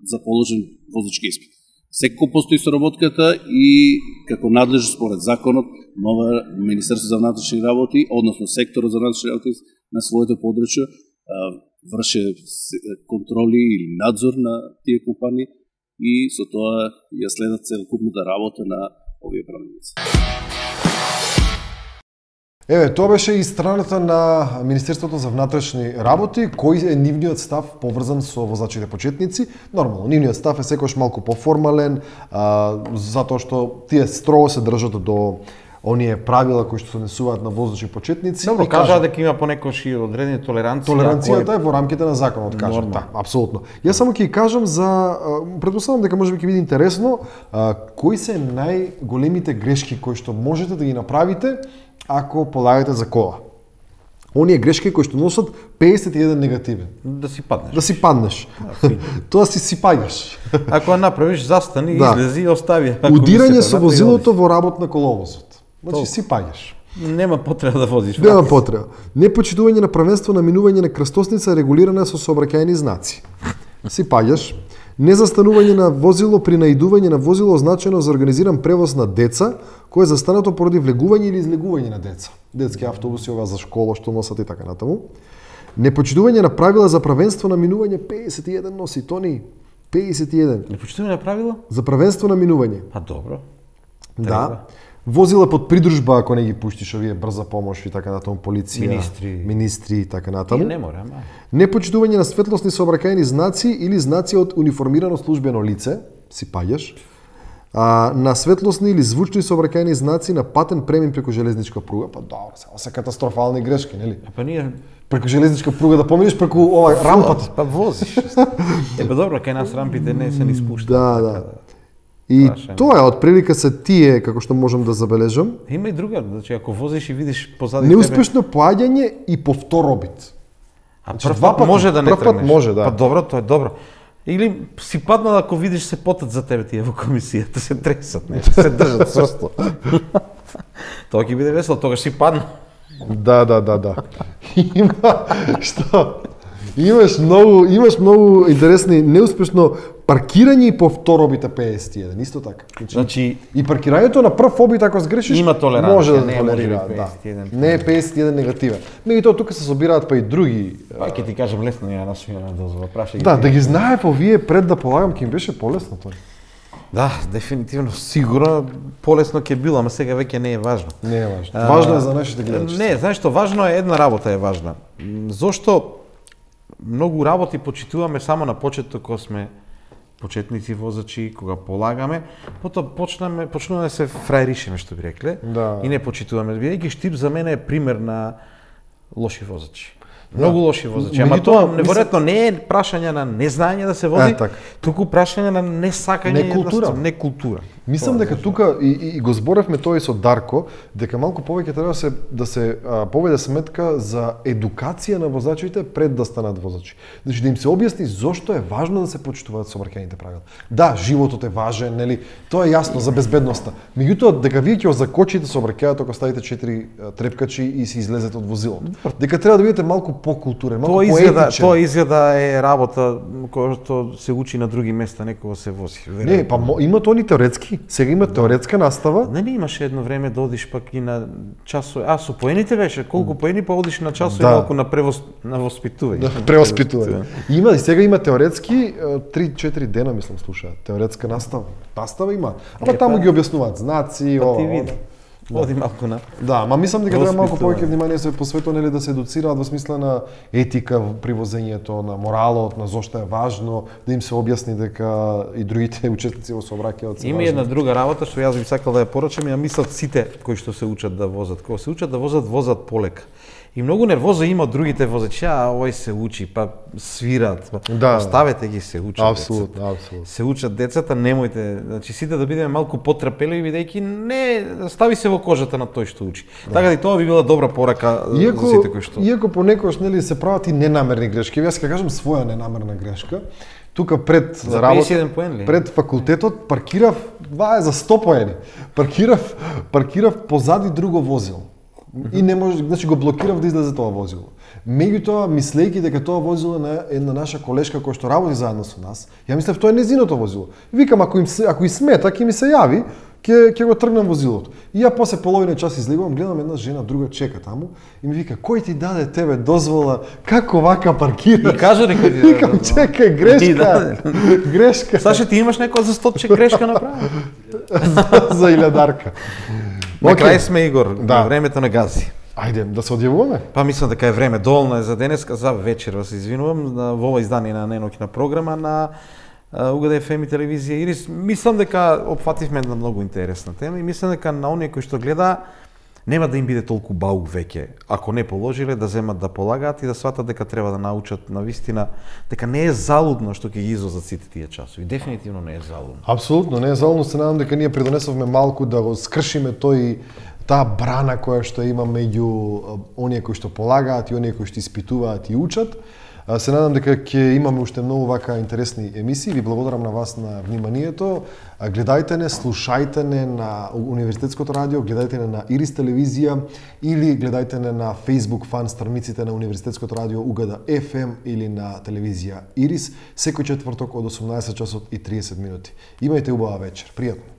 Speaker 13: за положен возачки испит. Секако постои соработката и како надлежно според законот, нова Министерство за внатрешни работи, односно секторот за внатрешни работи на своето подрачје врше контроли или надзор на тие компании и со тоа ја следат целокупната работа на овие правници.
Speaker 1: Еве, тоа беше и страната на Министерството за внатрешни работи, кој е нивниот став поврзан со возачите почетници. Нормално, нивниот став е секојаш малку поформален, а, затоа што тие строго се држат до оние правила кои што се однесуваат на возачи почетници.
Speaker 2: Добро, кажа дека има понекогаш и одредени толеранција.
Speaker 1: Толеранцијата е во рамките на законот, кажам. Да, апсолутно. Јас само ќе кажам за, претпоставам дека можеби ќе биде интересно, а, кои се најголемите грешки кои што можете да ги направите ако полагате за кола. Оние грешки кои што носат педесет и еден негативен.
Speaker 2: Да си паднеш.
Speaker 1: Да си паднеш. Да, тоа си си паѓаш.
Speaker 2: Ако ја направиш, застани, да. Излези и остави.
Speaker 1: Удирање со возилото во работ на коловозот. Значи си паѓаш.
Speaker 2: Нема потреба да возиш.
Speaker 1: Нема потреба. Непочитување на правенство на минување на крстосница регулирана со сообраќајни знаци. Си паѓаш. Незастанување на возило при наидување на возило означено за организиран превоз на деца, кое е застанато поради влегување или излегување на деца. Детски автобуси, ова за школа што носат и така натаму. Непочитување на правила за правенство на минување, педесет и еден носи, Тони. педесет и еден.
Speaker 2: Непочитување на правила?
Speaker 1: За правенство на минување.
Speaker 2: Па добро.
Speaker 1: Да. Возила под придружба ако не ги пуштиш овие брза помош и така натаму, полиција,
Speaker 2: министри,
Speaker 1: министри и така натаму.
Speaker 2: Не мора, ама.
Speaker 1: Непочитување на светлосни сообраќајни знаци или знаци од униформирано службено лице, си паѓаш. А, на светлосни или звучни сообраќајни знаци на патен премин преку железничка пруга, па добро, само се катастрофални грешки, нели?
Speaker 2: Па ние
Speaker 1: преку железничка пруга да поминеш преку ова рампата,
Speaker 2: па возиш. Е, па добро, кај нас рампите не се ни спуштаат.
Speaker 1: Да, да. И Прашаем. Тоа е отприлика се тие како што можам да забележам.
Speaker 2: Има и друга, значи ако возиш и видиш позади
Speaker 1: неуспешно тебе поаѓање и повторобит.
Speaker 2: А значи, прв пат може да не
Speaker 1: прв пат може, да.
Speaker 2: Па добро, тоа е добро. Или си паднал ако видиш се потат за тебе тие во комисијата, се тресат, не, се држат цврсто. Тоа ќе биде весело, тогаш си падна.
Speaker 1: Да, да, да, да. Има што? Имаш многу, имаш многу интересни неуспешно паркирање и повторобите педесет и еден, исто така.
Speaker 2: Значи, значи
Speaker 1: и паркирањето на прв обид ако сгрешиш
Speaker 2: има толеранција,
Speaker 1: може да
Speaker 2: не
Speaker 1: толерира, да. Не е педесет и еден негативен. Меѓутоа тука се собираат па и други.
Speaker 2: Па ќе ти кажам лесно ја насмена дозва, прашај ги.
Speaker 1: Да, да ги знаев овие пред да полагам ќе им беше полесно тоа.
Speaker 2: Да, дефинитивно, сигурно полесно ќе било, ама сега веќе не е важно.
Speaker 1: Не е важно. А, важно е за нашите гледачи.
Speaker 2: Не, знаеш што, важно е една работа е важна. Зошто многу работи почитуваме само на почеток кога сме почетници возачи, кога полагаме, потоа почнаме, почнуваме да се фраеришеме, што би рекле,
Speaker 1: да.
Speaker 2: И не почитуваме. Бидејќи Штип за мене е пример на лоши возачи. Многу лоши возачи. Ама тоа неверојатно не е прашање на незнање да се вози,
Speaker 1: е,
Speaker 2: туку прашање на несакање,
Speaker 1: не култура.
Speaker 2: Не култура.
Speaker 1: Мислам дека тука и, и, и го зборевме тоа и со Дарко, дека малку повеќе треба да се да се а, поведе сметка за едукација на возачите пред да станат возачи. Значи да им се објасни зошто е важно да се почитуваат сообраќајните правила. Да, животот е важен, нели? Тоа е јасно за безбедноста. Меѓутоа дека вие ќе закочите сообраќајот ако ставите четири трепкачи и се излезете од возилото. Дека треба да бидете малку покултурен, малку
Speaker 2: тоа изгледа,
Speaker 1: поетичен.
Speaker 2: Тоа изгледа е работа која што се учи на други места, некога се вози.
Speaker 1: Не, па има тоа ни теоретски. Сега има теоретска настава.
Speaker 2: Не, не имаше едно време да одиш пак и на часови. А со поените беше колку поени па одиш на часови
Speaker 1: Да.
Speaker 2: малку на превос на воспитување.
Speaker 1: Да, преоспитување. Има и сега има теоретски три-четири дена мислам слушаат. Теоретска настава. Настава има. Ама
Speaker 2: Е,
Speaker 1: таму
Speaker 2: па-
Speaker 1: ги објаснуваат знаци,
Speaker 2: Па
Speaker 1: ова.
Speaker 2: ти види.
Speaker 1: Да.
Speaker 2: Оди малку на.
Speaker 1: Да, ма мислам дека треба малку
Speaker 2: Воспитување.
Speaker 1: повеќе внимание се посветува нели да се едуцираат во смисла на етика при возењето, на моралот, на зошто е важно, да им се објасни дека и другите учесници во сообраќајот се
Speaker 2: Има
Speaker 1: важни.
Speaker 2: една друга работа што јас би сакал да ја порачам, ја мислат сите кои што се учат да возат. Кога се учат да возат, возат полека. И многу нервоза има од другите возачи, а овој се учи, па свират, па
Speaker 1: Да.
Speaker 2: оставете ги се учат.
Speaker 1: Апсолутно,
Speaker 2: децата.
Speaker 1: апсолутно.
Speaker 2: Се учат децата, немојте, значи сите да бидеме малку потрпеливи бидејќи не стави се во кожата на тој што учи. Така да и тоа би била добра порака
Speaker 1: Иако,
Speaker 2: за сите кои што.
Speaker 1: иако понекогаш нели се прават и ненамерни грешки, јас ќе кажам своја ненамерна грешка. Тука пред
Speaker 2: За
Speaker 1: работа,
Speaker 2: педесет и еден поен ли?
Speaker 1: пред факултетот паркирав, два е за сто поени. Паркирав, паркирав позади друго возило. И не може, значи го блокирав да излезе тоа возило. Меѓутоа, мислејќи дека тоа возило на една наша колешка која што работи заедно со нас, ја мислев тоа е незиното возило. Викам ако им се, ако и смета, ќе ми се јави, ќе ќе го тргнам возилото. И ја после половина час излегувам, гледам една жена друга чека таму и ми вика кој ти даде тебе дозвола како вака паркираш?
Speaker 2: И кажа дека ти даде
Speaker 1: Викам
Speaker 2: дозвола.
Speaker 1: чекај
Speaker 2: И
Speaker 1: грешка.
Speaker 2: даде.
Speaker 1: Грешка.
Speaker 2: Саше ти имаш некоја за стотче грешка направи.
Speaker 1: за, за илјадарка.
Speaker 2: На
Speaker 1: Океј.
Speaker 2: крај сме, Игор,
Speaker 1: Да.
Speaker 2: на времето на гази.
Speaker 1: Ајде, да се одјавуваме?
Speaker 2: Па мислам дека е време, доволно е за денеска, за вечер, се извинувам, на во ова издание на неноќна програма на УГД еф ем и телевизија Ирис. Мислам дека опфативме една многу интересна тема и мислам дека на оние кои што гледа нема да им биде толку баук веќе, ако не положиле, да земат да полагаат и да сватат дека треба да научат на вистина, дека не е залудно што ќе ги излозат сите тие часови. Дефинитивно не е залудно.
Speaker 1: Апсолутно, не е залудно, се надам дека ние придонесовме малку да го скршиме тој таа брана која што има меѓу оние кои што полагаат и оние кои што испитуваат и учат. Се надам дека ќе имаме уште многу вака интересни емисии. Ви благодарам на вас на вниманието. Гледајте не, слушајте не на Универзитетското радио, гледајте не на Ирис телевизија или гледајте не на Facebook фан страниците на Универзитетското радио УГД еф ем или на телевизија Ирис секој четврток од осумнаесет часот и триесет минути. Имајте убава вечер. Пријатно.